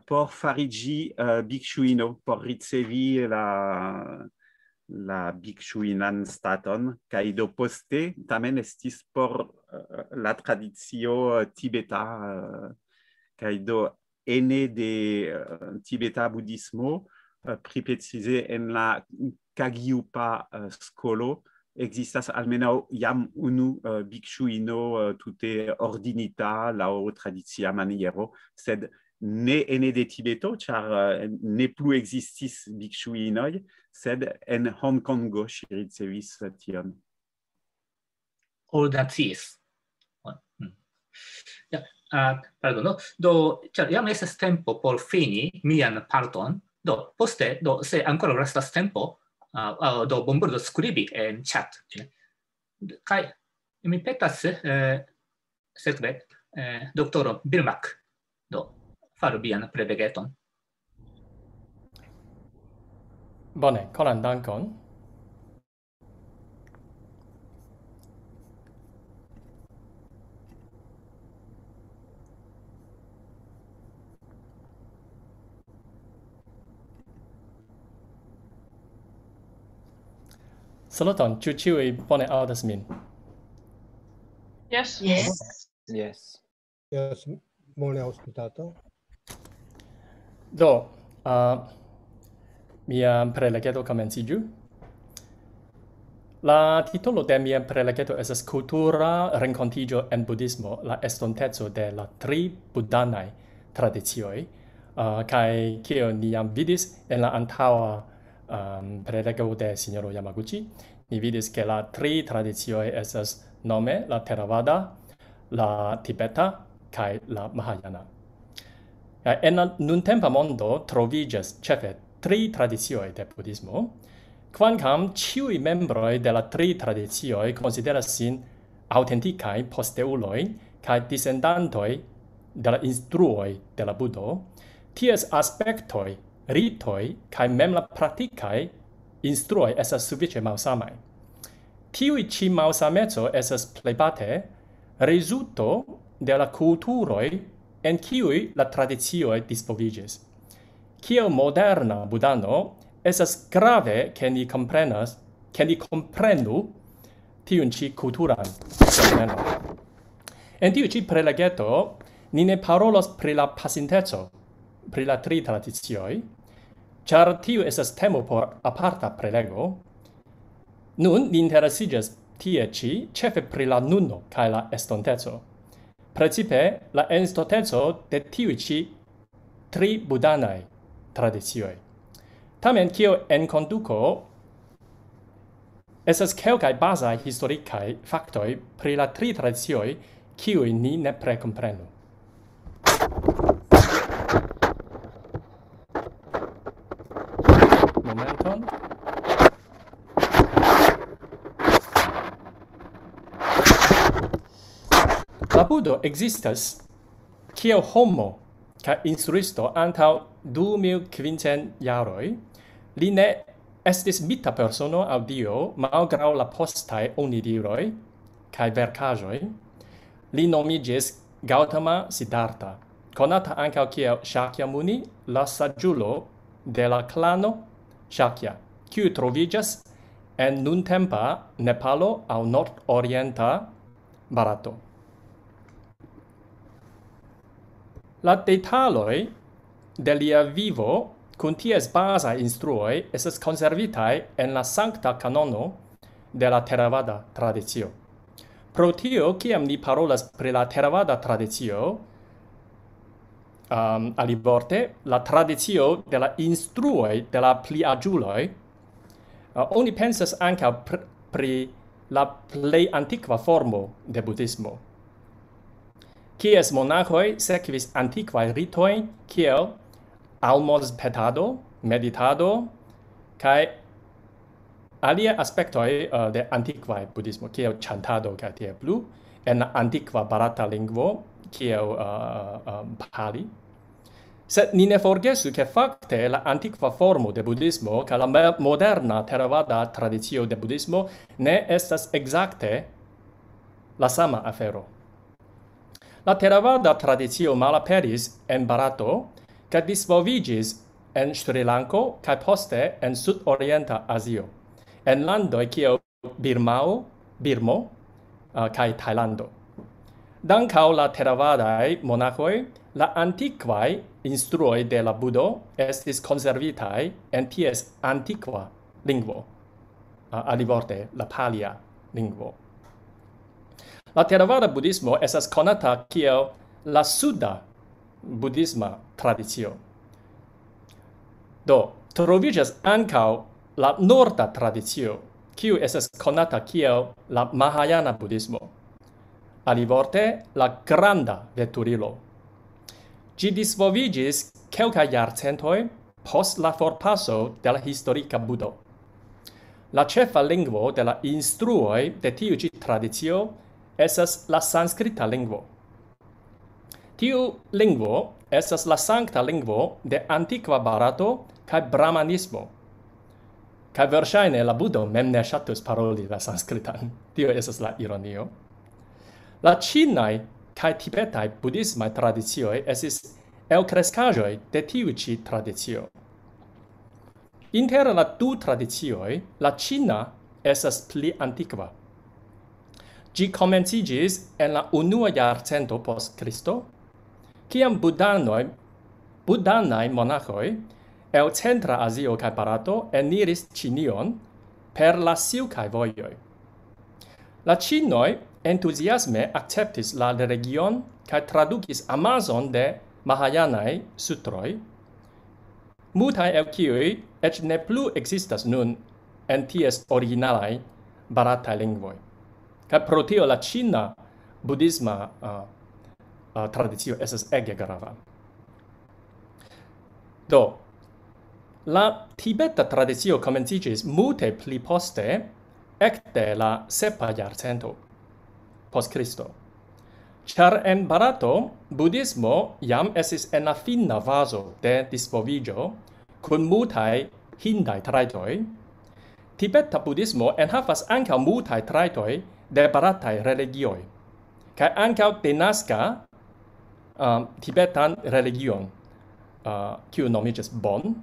por fariĝi, eh, bikŝuino, por ricevi la, la bikŝuinan staton, kaj do poste tamen estis por eh, la tradicio eh, tibeta, eh, kaj do ene de eh, tibeta budhismo, eh, pli precize en la Kagyupa eh, skolo, ekzistas almenaŭ jam unu eh, bikŝuino eh, tute ordinita laŭ tradicia maniero, sed ne ene de Tibeto, ĉar eh, ne plu ekzistis bikŝuinoj, sed en Hongkongo ŝi ricevis eh, tion. All that is. Mm. Ja, uh, pardono. Do, ĉar jam estas tempo por fini mian parton. Do, poste, do, se ankoraŭ restas tempo, uh, uh, do, bonvolu skribi en chat. Kaj mi petas, eh, sekve, eh, doktoro Birmak, do, faru vian prelegeton. Bone, koran dankon. Saluton, ĉu ĉiuj bone aŭdas min? Yes. Yes. Yes, bone aŭskultato. Do, uh, mia prelegeto komenciĝu. La titolo de mia prelegeto estas Kultura renkontiĝo en budhismo, la estonteco de la tri budanaj tradicioj, uh, kaj kiel ni jam vidis en la antaŭa um, prelego de sinjoro Yamaguchi, ni vidis, ke la tri tradicioj estas nome la Theravada, la Tibeta kaj la Mahayana. Ja, en la nuntempa mondo troviĝas ĉefe tri tradicioj de budhismo, kvankam ĉiuj membroj de la tri tradicioj konsideras sin aŭtentikaj posteuloj kaj disendantoj de la instruoj de la Budo, ties aspektoj, ritoj kaj mem la praktikaj instruoj estas sufiĉe malsamaj. Tiuj ĉi malsameco estas plejparte rezulto de la kulturoj, en kiuj la tradicioj disvolviĝis. Kiel moderna budano, estas grave, ke ni komprenas, ke ni komprenu tiun ĉi kulturan fenomenon. En tiu ĉi prelegeto ni ne parolos pri la pasinteco, pri la tri tradicioj, ĉar tiu estas temo por aparta prelego. Nun ni interesiĝas tie ĉi ĉefe pri la nuno kaj la estonteco. Precipe la estonteco de tiuj ĉi tri budanaj tradicioj. Tamen kiel enkonduko estas kelkaj bazaj historikaj faktoj pri la tri tradicioj, kiuj ni nepre komprenu. Momenton. La Budo ekzistas kiel homo kaj instruisto antaŭ du mil kvincent jaroj. Li ne estis mita persono aŭ dio, malgraŭ la postaj onidiroj kaj verkaĵoj. Li nomiĝis Gautama Siddhartha, konata ankaŭ kiel Shakyamuni, la saĝulo de la klano Shakya, kiu troviĝas en nuntempa Nepalo aŭ nordorienta Barato. La detaloj de lia vivo kun ties bazaj instruoj estas konservitaj en la sankta kanono de la Theravada tradicio. Pro tio, kiam ni parolas pri la Theravada tradicio, um, alivorte, la tradicio de la instruoj de la pliaĝuloj, uh, oni pensas ankaŭ pr pri la plej antikva formo de budhismo. Kies monaĥoj sekvis antikvaj ritoj kiel almozpetado, meditado kaj aliaj aspektoj uh, de antikvaj budhismo, kiel ĉantado kaj tiel plu, en la antikva barata lingvo, kiel uh, uh, Pali. Sed ni ne forgesu, ke fakte la antikva formo de budhismo kaj la moderna Theravada tradicio de budhismo ne estas ekzakte la sama afero. La Theravada tradicio malaperis en Barato kaj disvolviĝis en Ŝrilanko kaj poste en sudorienta Azio. en landoj kiel Birmao, Birmo, uh, kaj Tajlando. Dankaŭ la teravadaj monaĥoj, la antikvaj instruoj de la Budo estis konservitaj en ties antikva lingvo, uh, alivorte la palia lingvo. La teravada budhismo estas konata kiel la suda budhisma tradicio. Do, troviĝas ankaŭ la norda tradicio, kiu estas konata kiel la Mahajana budhismo. Alivorte, la granda veturilo. Ĝi disvolviĝis kelkaj jarcentoj post la forpaso de la historika Budo. La ĉefa lingvo de la instruoj de tiu ĉi tradicio estas la sanskrita lingvo. Tiu lingvo estas la sankta lingvo de antikva Barato kaj brahmanismo. Kaj verŝajne la Budo mem ne ŝatus paroli la sanskritan. Tio estas la ironio. La ĉinaj kaj tibetaj budhismaj tradicioj estis elkreskaĵoj de tiu ĉi tradicio. Inter la du tradicioj, la ĉina estas pli antikva. Ĝi komenciĝis en la unua jarcento post Kristo, kiam budanoj, budanaj monaĥoj el Centra Azio kaj Barato eniris Ĉinion per la silkaj vojoj. La ĉinoj entuziasme akceptis la religion kaj tradukis amazon de Mahajanaj sutroj, multaj el kiuj eĉ ne plu ekzistas nun en ties originalaj barataj lingvoj. Kaj pro tio la ĉina budhisma, uh, uh, tradicio estas ege grava. Do, la tibeta tradicio komenciĝis multe pli poste, ekde la sepa jarcento post Kristo. Ĉar en Barato budhismo jam estis en la fina fazo de disvolviĝo kun multaj hindaj trajtoj, tibeta budhismo enhavas ankaŭ multaj trajtoj de barataj religioj, kaj ankaŭ denaska, um, tibetan religion, uh, kiu nomiĝas Bon.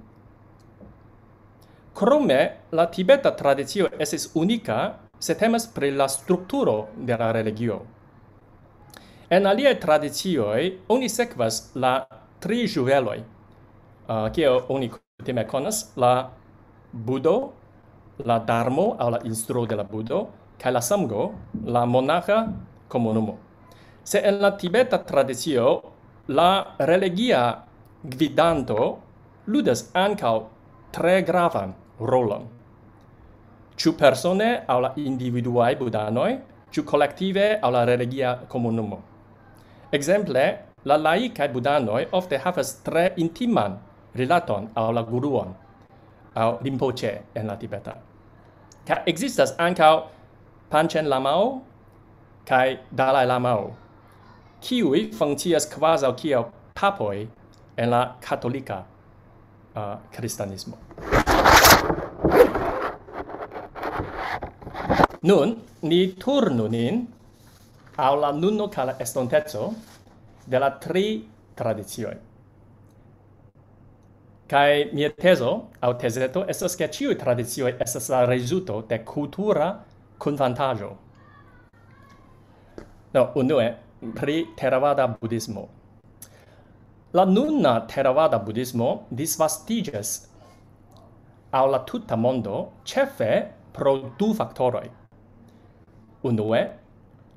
Krome, la tibeta tradicio estis unika, se temas pri la strukturo de la religio. En aliaj tradicioj oni sekvas la tri ĵuveloj, uh, kiel oni kutime konas, la Budo, la Darmo aŭ la instruo de la Budo, kaj la Sango, la monaĥa komunumo. Se en la tibeta tradicio la religia gvidanto ludas ankaŭ tre gravan rolon. Ĉu persone aŭ la individuaj budanoj, ĉu kolektive aŭ la religia komunumo. Ekzemple, la laikaj budanoj ofte havas tre intiman rilaton al la guruon, aŭ Rinpoche en la tibeta. Kaj ekzistas ankaŭ Panchen Lamao kaj Dalai Lamao, kiuj funkcias kvazaŭ kiel papoj en la katolika, uh, kristanismo. Nun, ni turnu nin al la nuno kaj la estonteco de la tri tradicioj. Kaj mia tezo, aŭ tezeto, estas, ke ĉiuj tradicioj estas la rezulto de kultura kunfantaĵo. No, unue, pri Theravada budhismo. La nuna Theravada budhismo disvastiĝas al la tuta mondo, ĉefe pro du faktoroj. Unue,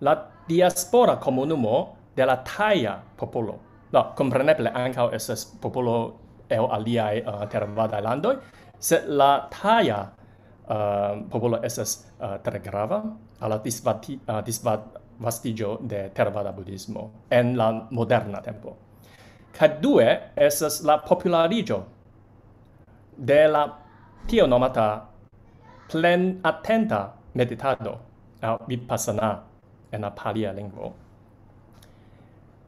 la diaspora komunumo de la taja popolo. No, kompreneble ankaŭ estas popolo el aliaj, uh, teravadaj landoj, sed la taja, uh, popolo estas, uh, tre grava al la disvati-, uh, disvastiĝo de teravada budhismo en la moderna tempo. Kaj due estas la populariĝo de la tiel nomata plenatenta meditado, aŭ vipassana en la palia lingvo.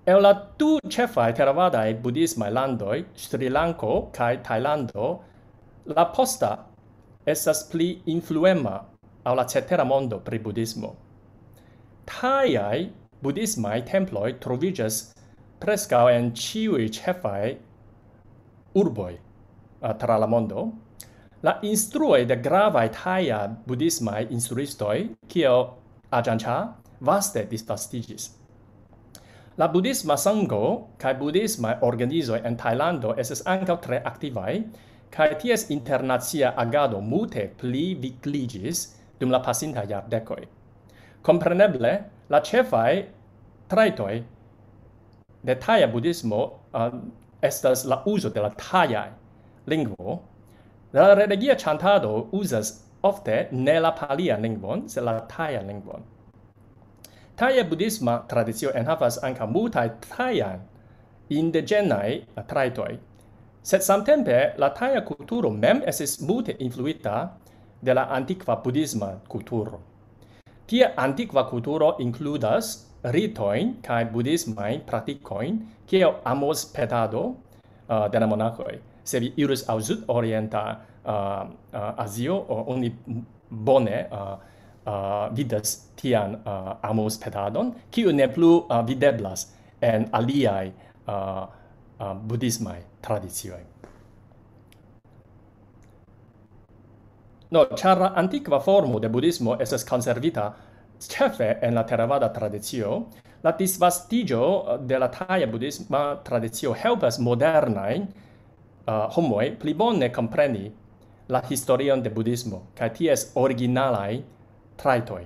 En la du ĉefaj teravadaj budhismaj landoj, Srilanko kaj Tajlando, la posta estas pli influema al la cetera mondo pri budhismo. Tajaj budhismaj temploj troviĝas preskaŭ en ĉiuj ĉefaj urboj, a, tra la mondo, La instruoj de gravaj taja budhismaj instruistoj, kiel Ajahn Chah, vaste disvastiĝis. La budhisma sango kaj budhismaj organizoj en Tajlando estas ankaŭ tre aktivaj, kaj ties internacia agado multe pli vigliĝis dum la pasintaj jardekoj. Kompreneble, la ĉefaj trajtoj de taja budhismo, uh, estas la uzo de la taja lingvo. La religia ĉantado uzas ofte ne la palian lingvon, sed la tajan lingvon. Taja budhisma tradicio enhavas ankaŭ multaj tajajn indiĝenaj trajtoj, sed samtempe la taja kulturo mem estis multe influita de la antikva budhisma kulturo. Tia antikva kulturo inkludas ritojn kaj budhismajn praktikojn, kiel amos-petado, uh, de la monakoj. Se vi iris al sudorienta, uh, uh, Azio, uh, oni bone, uh, uh, vidas tian, uh, amos-petadon, kiu ne plu, uh, videblas en aliaj, uh, uh, budhismaj tradicioj. No, ĉar la antikva formo de budhismo estas konservita ĉefe en la teravada tradicio, la disvastiĝo de la taja budhisma tradicio helpas modernajn, uh, homoj pli bone kompreni la historion de budhismo kaj ties originalaj trajtoj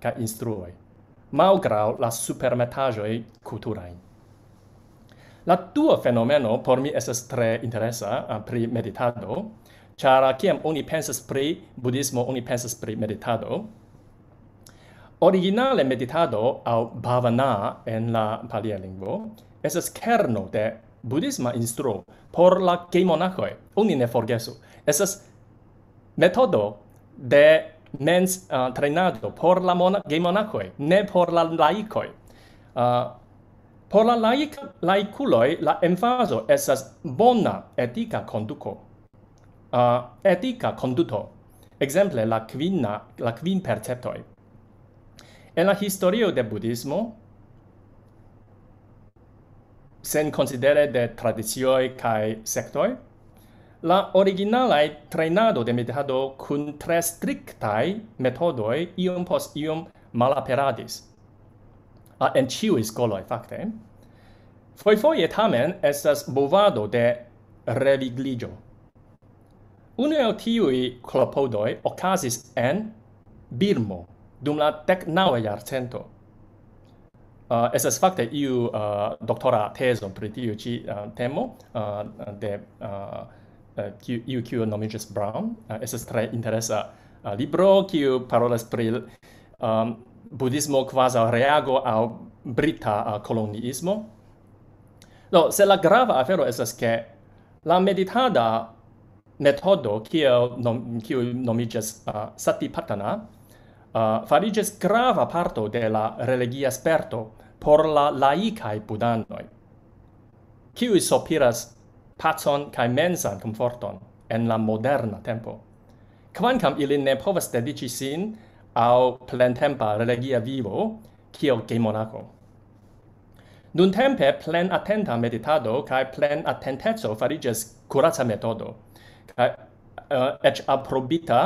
kaj instruoj, malgraŭ la supermetaĵoj kulturaj. La dua fenomeno por mi estas tre interesa, uh, pri meditado, ĉar kiam oni pensas pri budhismo, oni pensas pri meditado. Originale meditado aŭ bhavana en la palia lingvo estas kerno de budhisma instruo por la gejmonakoj. Oni ne forgesu. Estas metodo de mens, uh, trejnado por la mona-, gejmonakoj, ne por la laikoj. Uh, por la laik-, laikuloj la emfazo estas bona etika konduko. Uh, etika konduto. Ekzemple la kvina, la kvin perceptoj. En la historio de budhismo, sen konsidere de tradicioj kaj sektoj, la originalaj trejnado de meditado kun tre striktaj metodoj iom post iom malaperadis. Uh, en ĉiuj skoloj, fakte. Fojfoje tamen estas movado de revigliĝo. Unu el tiuj klopodoj okazis en Birmo dum la deknaŭa jarcento. Uh, estas fakte iu, uh, doktora tezo pri tiu ĉi, uh, temo, uh, de, uh, uh, kiu, iu, kiu nomiĝas Brown. Uh, estas tre interesa, uh, libro, kiu parolas pri, um, budhismo kvazaŭ reago al brita, uh, koloniismo. Do, se la grava afero estas, ke la meditada metodo, kiel nom-, kiu nomiĝas, uh, Satipatthana, uh, fariĝis grava parto de la religia sperto por la laikaj budanoj, kiuj sopiras pacon kaj mensan komforton en la moderna tempo, kvankam ili ne povas dediĉi sin al plentempa religia vivo kiel gejmonako. Nuntempe plenatenta meditado kaj plenatenteco fariĝas kuraca metodo, kaj, eh, eĉ aprobita,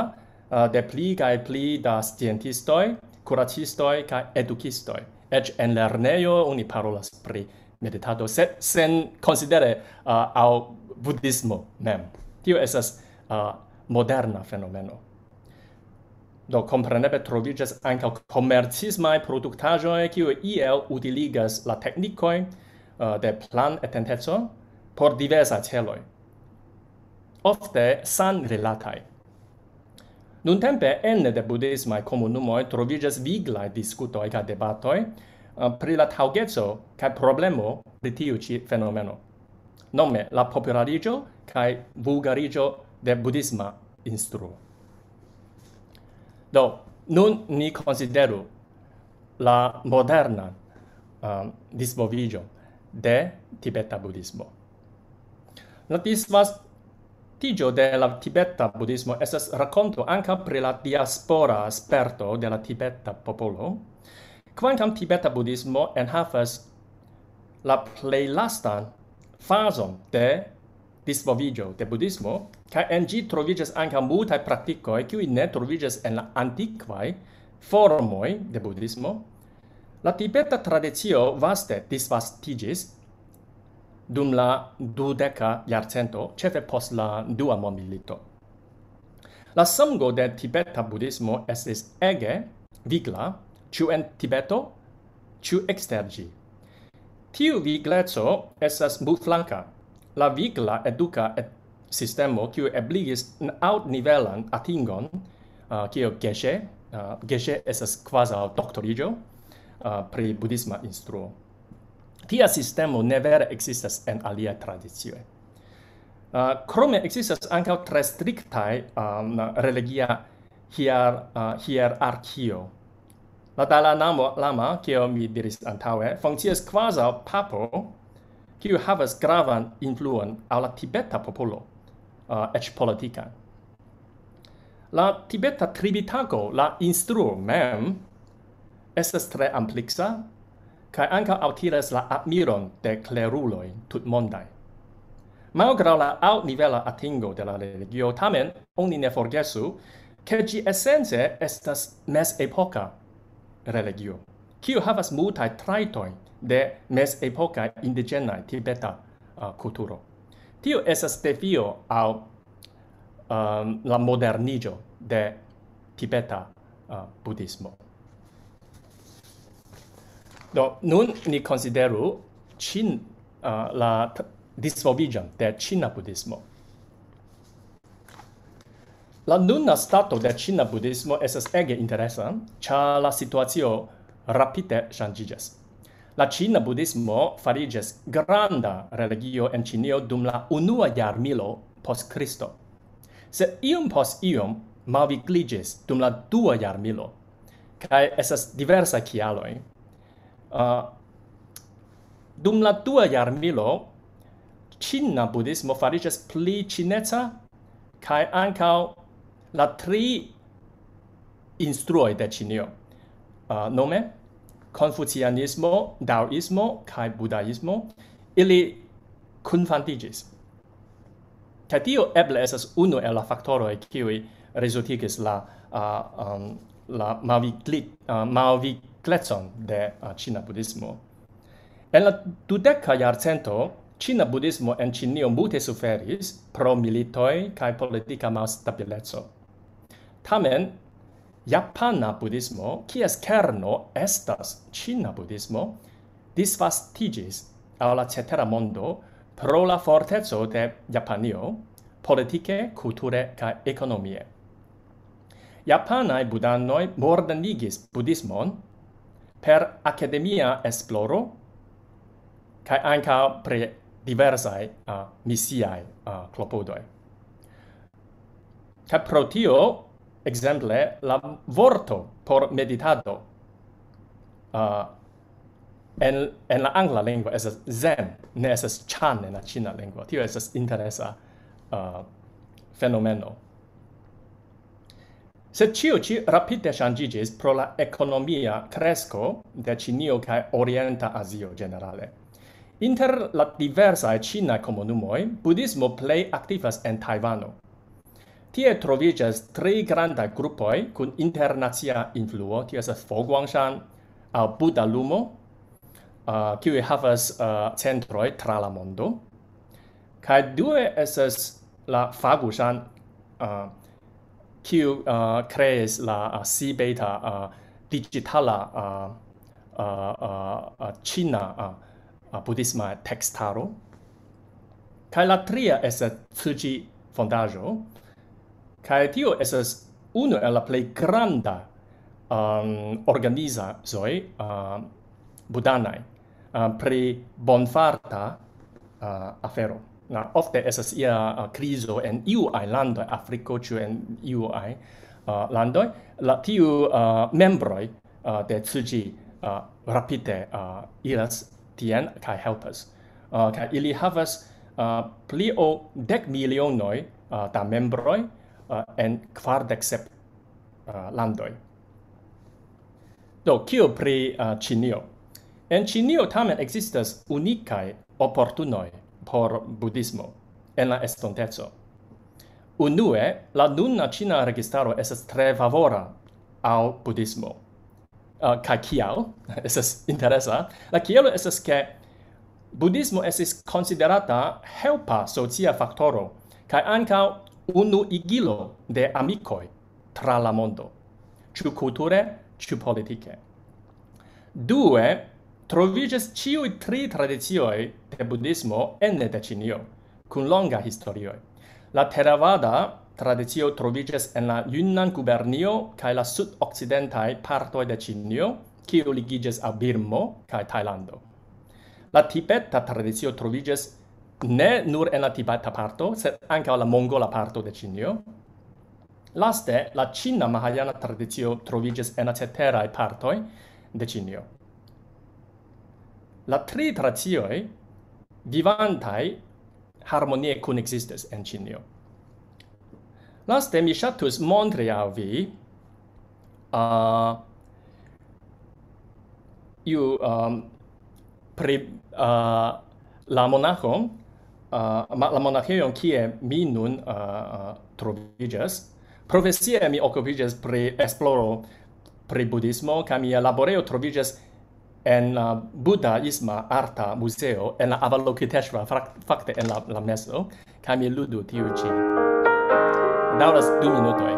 eh, de pli kaj pli da sciencistoj, kuracistoj kaj edukistoj. Eĉ en lernejo oni parolas pri meditado, sed sen konsidere, eh, al budhismo mem. Tio estas, eh, moderna fenomeno. Do, kompreneble troviĝas ankaŭ komercismaj produktaĵoj, kiuj iel utiligas la teknikoj, eh, de planetenteco por diversaj celoj, ofte sanrilataj. Nuntempe ene de budhismaj komunumoj troviĝas viglaj diskutoj kaj debatoj, eh, pri la taŭgeco kaj problemo pri tiu ĉi fenomeno. Nome, la populariĝo kaj vulgariĝo de budhisma instruo. Do, nun ni konsideru la moderna, um, disvolviĝo de tibeta budhismo. La disvastiĝo de la tibeta budhismo estas rakonto ankaŭ pri la diaspora sperto de la tibeta popolo, kvankam tibeta budhismo enhavas la plej lastan fazon de disvolviĝo de budhismo, kaj en ĝi troviĝas ankaŭ multaj praktikoj, kiuj ne troviĝas en la antikvaj formoj de budhismo. La tibeta tradicio vaste disvastiĝis dum la dudeka jarcento, ĉefe post la Dua Mondmilito. La sango de tibeta budhismo estis ege vigla, ĉu en Tibeto, ĉu ekster ĝi. Tiu vigleco estas multflanka. La vigla eduka ed-, sistemo, kiu ebligis n-, altnivelan atingon, uh, kiel Geshe, uh, Geshe estas kvazaŭ doktoriĝo, uh, pri budhisma instruo. Tia sistemo ne vere ekzistas en aliaj tradicioj. Uh, krome ekzistas ankaŭ tre striktaj, um, religia hier-, uh, hierarkio. La Dalai Lamo-, Lama, kiel mi diris antaŭe, funkcias kvazaŭ papo, kiu havas gravan influon al la tibeta popolo, uh, eĉ politikan. La tibeta Tripitako, la instruo mem, estas tre ampleksa, kaj ankaŭ altiras la admiron de kleruloj tutmondaj. Malgraŭ la altnivela atingo de la religio, tamen oni ne forgesu, ke ĝi esence estas mezepoka religio, kiu havas multaj trajtoj de mezepoka indiĝena tibeta, uh, kulturo. Tio estas defio al, um, la moderniĝo de tibeta, uh, budhismo. Do, nun ni konsideru Chin-, uh, la t-, disvolviĝon de ĉina budhismo. La nuna stato de ĉina budhismo estas ege interesa, ĉar la situacio rapide ŝanĝiĝas. La ĉina budhismo fariĝas granda religio en Ĉinio dum la unua jarmilo post Kristo. Sed iom post iom malvigliĝis dum la dua jarmilo, kaj estas diversaj kialoj. Uh, dum la dua jarmilo, ĉina budhismo fariĝas pli ĉineca, kaj ankaŭ la tri instruoj de Ĉinio, uh, nome konfucianismo, daoismo kaj budaismo, ili kunfandiĝis. Kaj tio eble estas unu el la faktoroj, kiuj rezultigis la, uh, um, la malvigli-, uh, malviglecon de, uh, ĉina budhismo. En la dudeka jarcento, ĉina budhismo en Ĉinio multe suferis pro militoj kaj politika malstabileco. Tamen, japana budhismo, kies kerno estas ĉina budhismo, disvastiĝis al la cetera mondo pro la forteco de Japanio, politike, kulture kaj ekonomie. Japanaj budanoj modernigis budhismon per akademia esploro kaj ankaŭ pri diversaj, uh, misiaj, uh, klopodoj. Kaj pro tio, ekzemple, la vorto por meditado, uh, en, en la angla lingvo estas zen, ne estas chan en la ĉina lingvo. Tio estas interesa, uh, fenomeno. Sed ĉio ĉi rapide ŝanĝiĝis pro la ekonomia kresko de Ĉinio kaj Orienta Azio ĝenerale. Inter la diversaj ĉinaj komunumoj, budhismo plej aktivas en Tajvano. Tie troviĝas tri grandaj grupoj kun internacia influo, tio estas Fo Guangshan aŭ Buda Lumo, uh, kiuj havas, uh, centroj tra la mondo. Kaj due estas la Fa Gungshan, uh, kiu, uh, kreis la, uh, Sibeta, uh, digitala, uh, uh, uh, uh, ĉina, uh, uh, budhisma tekstaro. Kaj la tria estas Tzu Chi fondaĵo. Kaj tio estas unu el la plej granda, um, organizaĵoj, uh, budanaj, uh, pri bonfarta, uh, afero. Na, ofte estas ia, uh, krizo en iu ajn landoj, Afriko, ĉu en iu ajn, uh, landoj. La, tiu, uh, membroj, uh, de Tzu Chi, uh, rapide, uh, iras tien kaj helpas. Uh, kaj ili havas, uh, pli ol dek milionoj, uh, da membroj, uh, en kvardek sep, uh, landoj. Do, kio pri, uh, Ĉinio? En Ĉinio tamen ekzistas unikaj oportunoj por budhismo. en la estonteco. Unue, la nuna ĉina registaro estas tre favora al budhismo. Uh, kaj kial? Estas interesa. La kialo estas, ke budhismo estis konsiderata helpa socia faktoro, kaj ankaŭ unuigilo de amikoj tra la mondo, ĉu kulture, ĉu politike. Due, troviĝas ĉiuj tri tradicioj de budhismo ene de Ĉinio, kun longa historioj. La Theravada tradicio troviĝas en la Yunnan gubernio kaj la sudokcidentaj partoj de Ĉinio, kiu ligiĝas al Birmo kaj Tajlando. La tibeta tradicio troviĝas ne nur en la tibeta parto, sed ankaŭ la mongola parto de Ĉinio. Laste, la ĉina mahajana tradicio troviĝas en la ceteraj partoj de Ĉinio. La tri tradicioj vivantaj harmonie kunekzistas en Ĉinio. Laste, mi ŝatus montri al vi, uh, iu, um, pri, uh, la monaĥo, uh, ma-, la monaĥejon, kie mi nun, uh, uh, troviĝas. Profesie mi okupiĝas pri esploro pri budhismo, kaj mia laborejo troviĝas en la Budaisma Arta Muzeo en la Avalokiteshvara, frak-, fakte en la, la mezo, kaj mi ludu tiu ĉi. Daŭras du minutoj.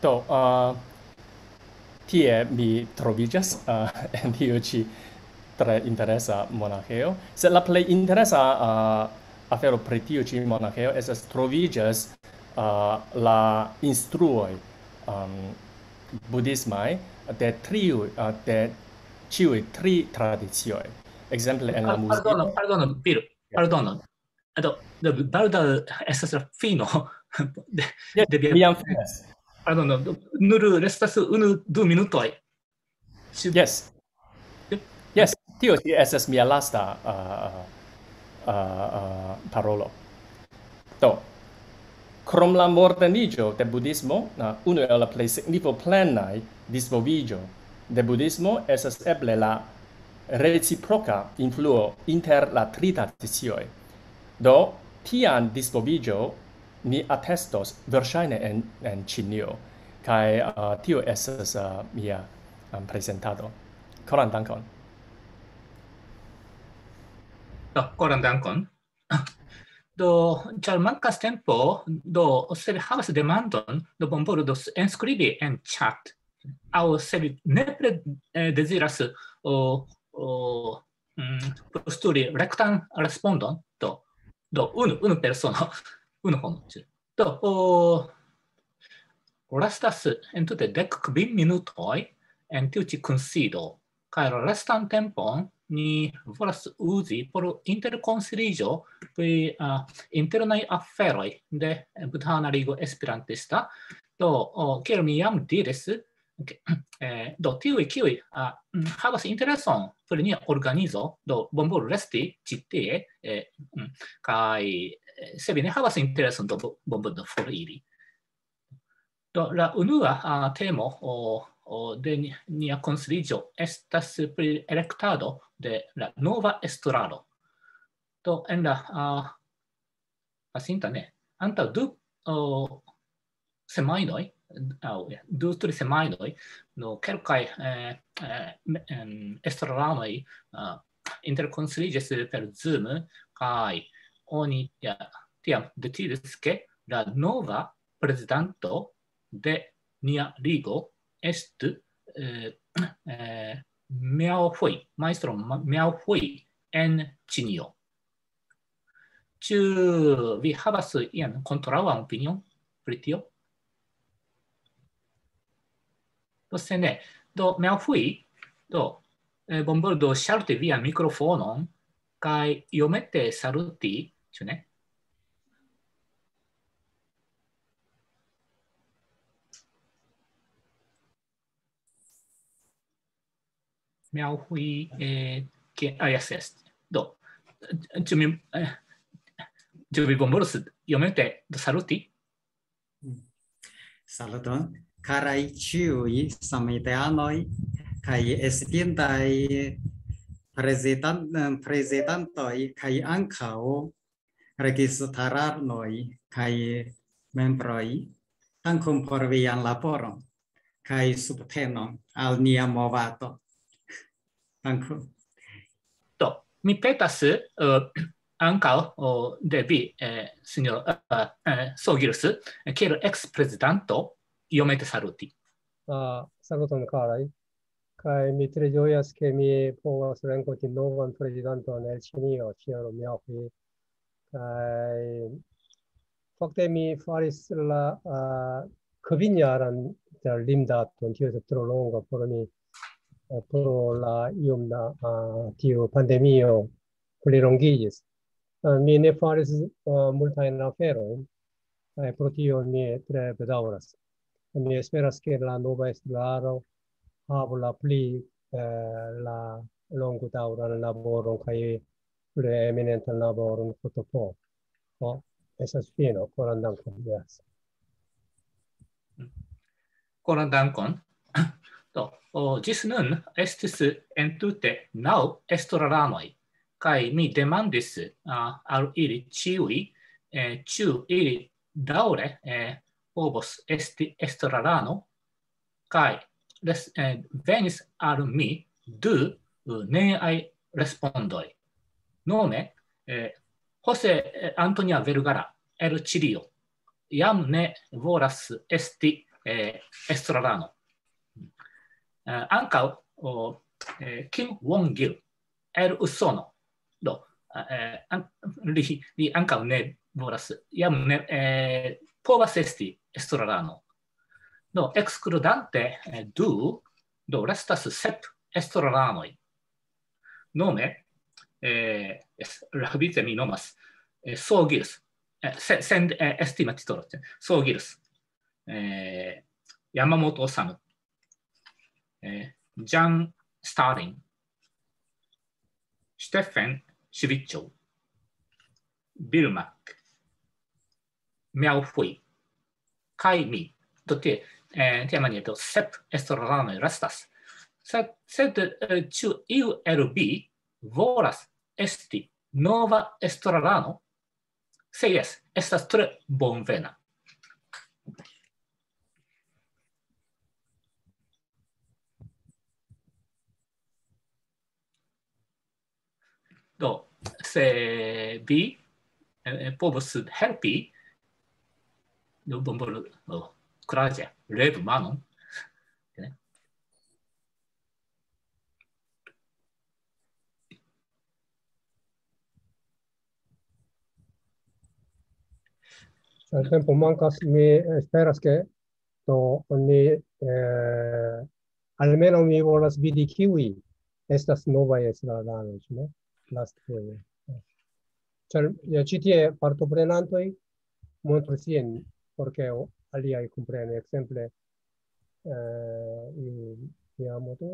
Do, uh, tie mi troviĝas, uh, en tiu ĉi tre interesa monaĥejo. Sed la plej interesa, uh, afero pri tiu ĉi monaĥejo estas troviĝas, uh, la instruoj, um, budhismaj de triu-, uh, de ĉiuj tri tradicioj. Ekzemple en la muziko. Pardono, pardono, Piro, pardono. Do, do, baldaŭ estas la fino de, jes, de via, mi jam finas. Pardono, do, nur restas unu, du minutoj. Jes. Jes, tio ĉi estas mia lasta, uh, uh, uh, parolo. Do, krom la moderniĝo de budhismo, uh, unu el la plej signifoplenaj disvolviĝo de budhismo estas eble la reciproka influo inter la tri tradicioj. Do, tian disvolviĝo ni atestos verŝajne en, en Ĉinio, kaj, uh, tio estas, uh, mia, um, prezentado. Koran dankon. Do, koran dankon. Do, ĉar mankas tempo, do, se vi havas demandon, do bonvolu do s-, enskribi en chat. Aŭ se vi nepre, eh, deziras, o, o, mm, postuli rektan respondon, do, do, unu, unu persono, unu homo. Do, o, restas entute dek kvin minutoj en tiu ĉi kunsido. Kaj la restan tempon ni volas uzi por interkonsiliĝo pri uh, internaj aferoj de Budhana Ligo Esperantista. Do, oh, kiel mi jam diris, eh, do tiuj, kiuj uh, havas intereson pri nia organizo, do bonvolu resti ĉi tie, eh, mm, kaj eh, se vi ne havas intereson, do bonvolu foriri. Do, la unua uh, temo o, o de nia konsiliĝo estas pri elektado de la nova estraro. Do, en la uh, pasinta ne, antaŭ du uh, semajnoj, aŭ ja, du, tri semajnoj, no, kelkaj eh, eh, estraranoj uh, interkonsiliĝis per Zoom kaj oni ja, tiam decidis, ke la nova prezidanto de nia ligo estu eh, eh, Miao Hui, majstro Miao Hui en Ĉinio. Ĉu vi havas ian kontraŭan opinion pri tio? Do se ne, do Miao Hui, do eh, bonvolu ŝalti vian mikrofonon kaj iomete saluti, ĉu ne? Miao Hui, eh, ke, ah, yes, yes. Do, ĉu mi, eh, ĉu vi bonvolus iomete do saluti? Saluton, karaj ĉiuj samiteanoj kaj estintaj prezidan-, prezidantoj kaj ankaŭ registaranoj kaj membroj. Dankon por vian laboron kaj subtenon al nia movado. Dankon. Do, mi petas uh, ankaŭ uh, de vi, eh, signor uh, uh, Sogils, kiel ex-prezidanto, iomete saluti. Uh, saluton, karaj. Kaj mi tre ĝojas, ke mi povas renkonti novan prezidanton el Ĉinio, Chen Miao Hui. Kaj fakte mi faris la uh, kvinjaran limdaton, tio estas tro longa por mi, eh, pro la iom da uh, tiu pandemio plilongiĝis. Uh, mi ne faris uh, multajn aferojn, kaj pro tio mi tre bedaŭras. Mi esperas, ke la nova estraro havu la pli eh, la longodaŭran laboron kaj plej eminentan laboron fotopo. Oh, estas fino, koran dankon. Yes. Koran dankon. Do, oh, ĝis nun estis entute naŭ estraranoj, kaj mi demandis uh, al ili ĉiuj, eh, ĉu ili daŭre eh, povos esti estrarano, kaj les, eh, venis al mi du uh, neaj respondoj. Nome, eh, Jose eh, Antonia Vergara el Chilio jam ne volas esti eh, estrarano. Eh, ankaŭ oh, eh, Kim Won-gil el Usono. Do, eh, an, li, li ankaŭ ne volas, jam ne eh, povas esti estrarano. Do, ekskludante eh, du, do restas sep estraranoj. Nome, eh, es, rabice mi nomas eh, Sogils, eh, sen, sen eh, estima titolo, Sogils, eh, Yamamoto Osamu, eh, Jan Stalin, Stefan Civiccio, Bill Mack, Miao Hui, kaj mi. Do tie, eh, tiamaniere do sep estraranoj restas. Sed, sed eh, ĉu iu el vi volas esti nova estrarano? Se jes, estas tre bonvena. Do, se vi eh, povos helpi, do bonvolu oh, kuraĝe levu manon. Tempo mankas, mi esperas, ke do oni eh, almenaŭ mi volas vidi, kiuj estas novaj estraranoj, ĉu ne? Lastfoje. Ĉar ja, ĉi tie partoprenantoj montru sin, por ke aliaj komprenu, ekzemple, eh, iu Miyamoto,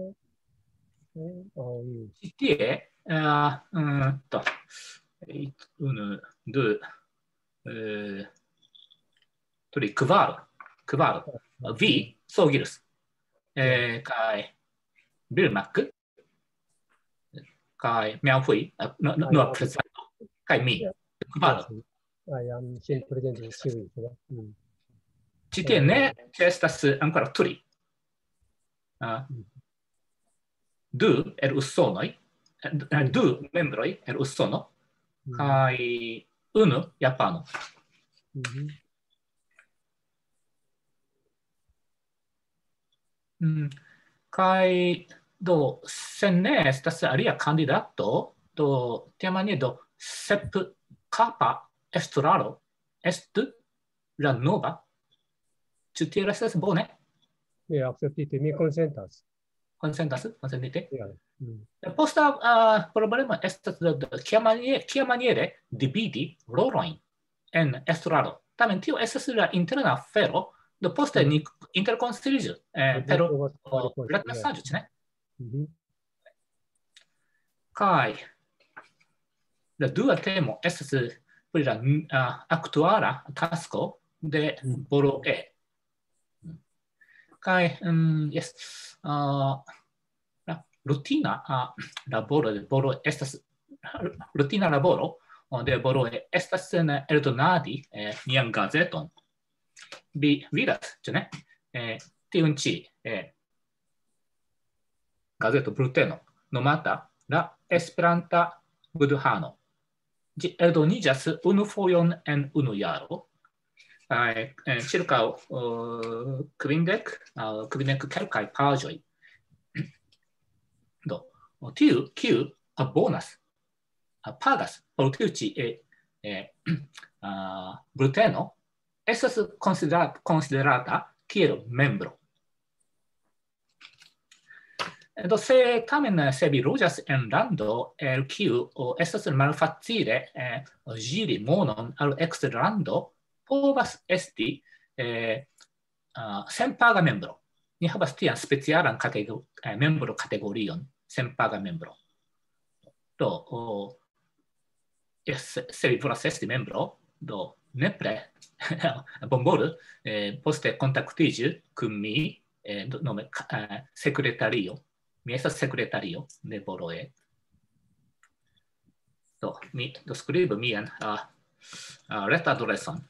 eh, aŭ iu. Ĉi tie, eh, mm, to, unu, du, eh, tri, kvar, kvar. Vi, Sogirus. Eh, kaj Bill Mack, kaj Mian Hui, eh, no, no, no, prezento, kaj mi. Kvar. Ah, jam sin prezentis ĉiuj, ĉu ne? Mm. Ĉi tie ne ĉeestas ankoraŭ tri. Ah, du el Usonoj, eh, du membroj el Usono, Mm. kaj unu Japano. Mhm. Mm. Kaj do, se ne estas alia kandidato, do tiamaniere do sep kapa estraro estu la nova. Ĉu tiel estas bone? Mi akceptite, mi konsentas. Konsentas, konsentite? Ja. Mm. La posta, ah, problemo estas, do, do, kiamaniere, kiamaniere dividi rolojn en estraro. Tamen tio estas la interna afero, do poste Mhm. ni interkonsiliĝu, eh, Mi per, povas fari oh, poste, retmesaĝo, ĉu ne? Mhm. Kaj la dua temo estas pri la, ah, aktuala tasko de Mhm. Boroe. Kaj, mm, jes, ah, la rutina, ah, laboro de Boroe estas, rutina laboro, oh, de Boroe estas en eldonadi, eh, nian gazeton. Vi vidas, ĉu ne? Eh, tiun ĉi, eh, gazeto bulteno, nomata La Esperanta Budhano. Ĝi eldoniĝas unu fojon en unu jaro, kaj, eh, ĉirkaŭ, eh, kvindek al kvindek kelkaj paĝoj. Do, tiu, kiu abonas, ah, pagas por tiu ĉi, eh, eh, ah, bulteno, estas konsidera-, konsiderata kiel membro. Do, se tamen, se vi loĝas en lando, el kiu, o, estas malfacile, eh, ĝiri monon al eksterlando, povas esti, eh, ah, senpaga membro. Ni havas tian specialan katego-, eh, membro-kategorion, senpaga membro. Do, o, es-, se vi volas esti membro, do nepre bonvolu, eh, poste kontaktiĝu kun mi, eh, do, nome, ka-, eh, sekretario. Mi estas sekretario de Boroe. Do, mi, do skribu mian, ah, ah, retadreson.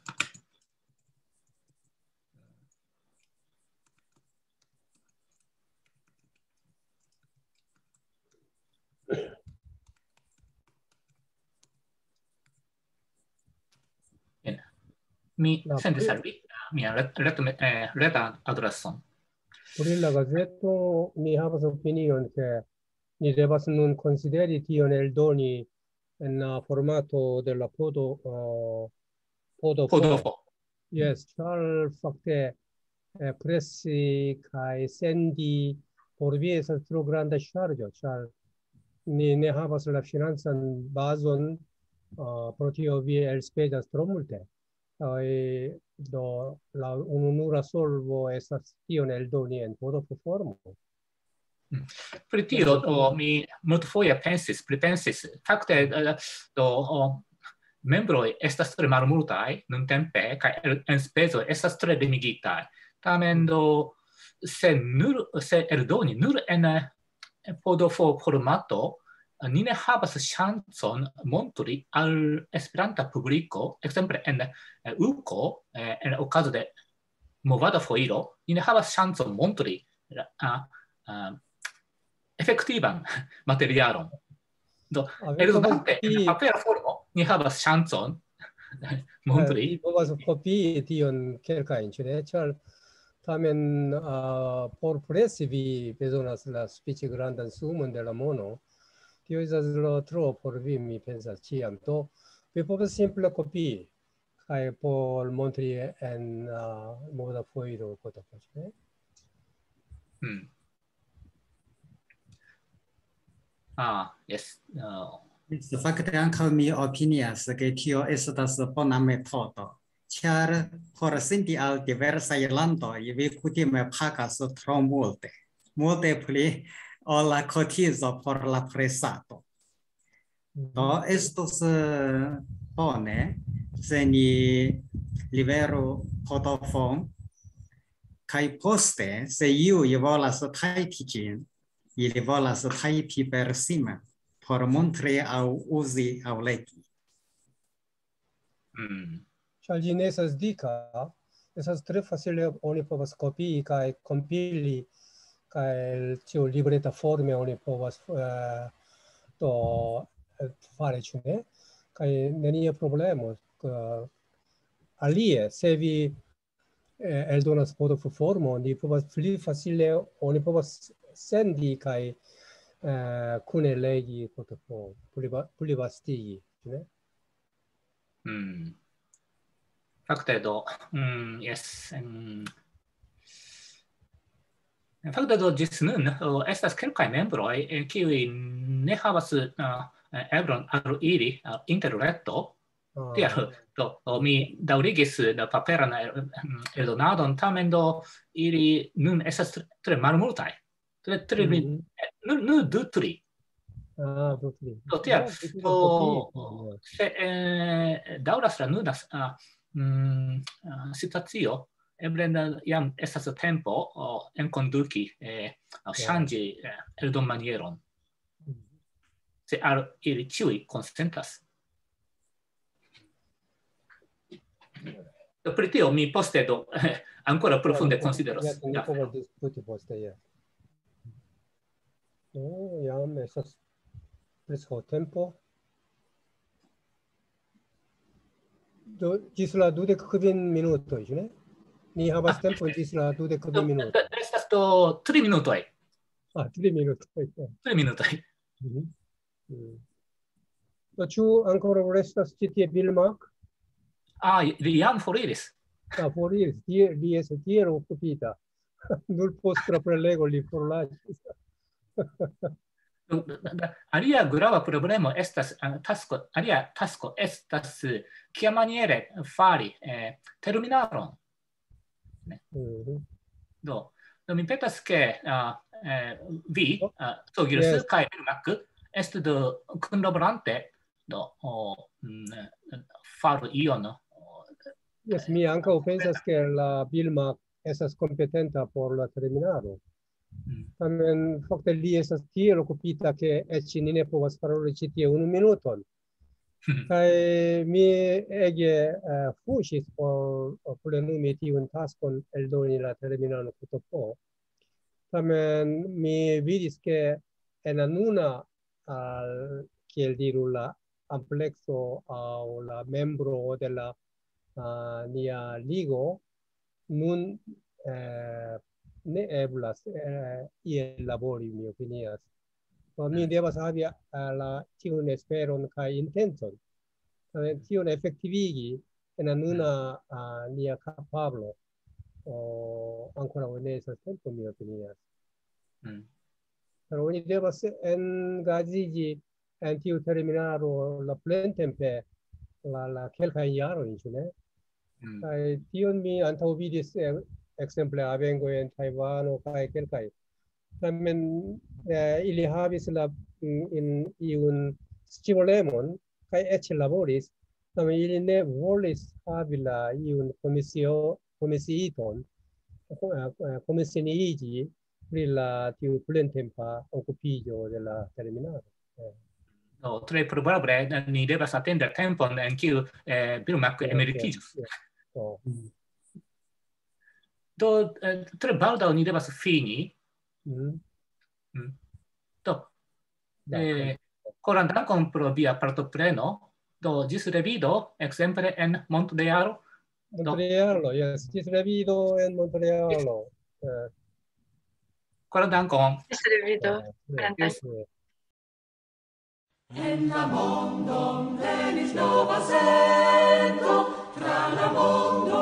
Bien. Mi La sendis pri- al vi, ah, mian ret-, ret-, eh, retadreson. Pri la gazeto, mi havas opinion, ke ni devas nun konsideri tion eldoni en la formato de la podo, eh, podo. Podofo. Jes, ĉar fakte, eh, presi kaj sendi por vi estas tro granda ŝarĝo, ĉar ni ne havas la financan bazon, eh, pro tio vi elspezas tro multe. Kaj do la ununura solvo estas tion eldoni en Podofo formo. Pri tio, o, mi multfoje pensis, pripensis. Fakte, eh, do, o, membroj estas tre malmultaj nuntempe, kaj el-, enspezoj estas tre limigitaj. Tamen do, se nur, se eldoni nur en, eh, Podofo formato, eh, ni ne havas ŝancon montri al esperanta publiko, ekzemple en, eh, uko, eh, en okazo de movada foiro, ni ne havas ŝancon montri la, a, a, efektivan materialon. Do, A, vi eldonante povas en papera formo, ni havas ŝancon montri. Vi povas kopii tion kelkajn, ĉu ne? Ĉar tamen, a, por presi vi bezonas la sufiĉe grandan sumon de la mono. Tio estas lo tro por vi, mi pensas, ĉiam. Do, vi povas simple kopii kaj por montri en, a, moda foiro, foto, ĉu ne? Hmm. Ah, yes. Uh, Fakte ankaŭ mi opinias, ke tio estas bona metodo, ĉar por sendi al diversaj landoj vi kutime pagas tro multe, multe pli ol la kotizo por la presado. Do estos eh, bone, se ni liveru Kodofon, kaj poste, se iuj volas tajpi ĝin, ili volas tajpi per sime, por montri aŭ uzi aŭ legi. mm, Ĉar ĝi ne estas dika, estas tre facile, oni povas kopii kaj kompili, kaj tiu libreta forme oni povas eh, do eh, fari, ĉu ne? Kaj nenia problemo. Eh, alie, se vi eh, eldonas foto formo, ni povas pli facile, oni povas sendi kaj eh, kune legi foto, pli, va- pli vastigi, ĉu ne? mm. Fakte do, mm, yes. Um, fakte do ĝis nun oh, estas kelkaj membroj, eh, kiuj ne havas uh, eblon al iri uh, interreto. Ah, Tial do, do mi daŭrigis la paperan eh, mm, eldonadon, tamen do ili nun estas tre, tre malmultaj. Tre, tre, mhm. Nur, nur du, tri. Ah, du, tri. Do tial, Ah, vi do povas kopii, se eh, daŭras la nuna ah, mm, ah, situacio, eble na- jam estas tempo oh, enkonduki, eh, aŭ ŝanĝi eh, eldonmanieron. Se al ili ĉiuj konsentas. Do pri tio mi poste do ankoraŭ profunde konsideros. Ja, ni Ja. povas diskuti poste, ja. No, jam estas preskaŭ tempo. Do, ĝis la dudek kvin minutoj, ĉu ne? Ni havas Ah, tempon ĝis la dudek Do, kvin minutoj. do, estas do tri minutoj. Ah, tri minutoj. Ja. Tri minutoj. Mhm. Mm. Do, ĉu ankoraŭ restas ĉi tie Bill Mack? Ah, li jam foriris. Ah, foriris. Tie, li estas tiel okupita. Nur post la prelego li forlasis. Alia grava problemo estas eh, tasko, alia tasko estas eh, kiamaniere fari eh, terminaron. Mhm. Do, do mi petas ke uh, eh, vi, uh, Togirus Yes. kaj Bill Mack estu do kunlaborante do o, mm, faru ion. Yes, mi ankaŭ pensas, ke la Bill Mack estas kompetenta por la terminalo. Mm. Tamen fakte li estas tiel okupita, ke eĉ ni ne povas paroli ĉi tie unu minuton. Kaj mi ege eh, fuŝis por plenumi tiun taskon, eldoni la terminalon Q T P. Tamen mi vidis, ke en la nuna, al, kiel diru, la amplekso aŭ la membro de la uh, nia ligo nun eh, ne eblas eh, iel labori, mi opinias. Do mi devas havi eh, la, tiun esperon kaj intencon. Tamen tion efektivigi en la nuna uh, nia kapablo o, ankoraŭ ne estas tempo, mi opinias. Mm. Pero oni devas engaĝiĝi en tiu terminalo la plentempe la, la kelkajn jarojn, ĉu ne? Mm. Kaj tion mi antaŭvidis eh, ekzemple Avengo en Tajvano kaj kelkaj. Tamen eh, ili havis la, mm, in, iun scivolemon kaj eĉ laboris. Tamen ili ne volis havi la iun komisio, komisiiton, eh, eh, komisiiĝi pri la tiu plentempa okupiĝo de la terminalo. Eh, Do, tre probable eh, ni devas atendi tempon en kiu eh, Bill Mack Yes, emeritiĝos. yes. Oh. Do, eh, tre baldaŭ ni devas fini. Mhm. Do, Dankon. eh, koran dankon pro via partopreno. Do, ĝis revido, ekzemple en Montrealo. Montrealo, yes. Ĝis revido en Montrealo. Eh, Koran dankon. Ĝis revido. eh, yes, yes. En la mondon venis nova sento, tra la mondo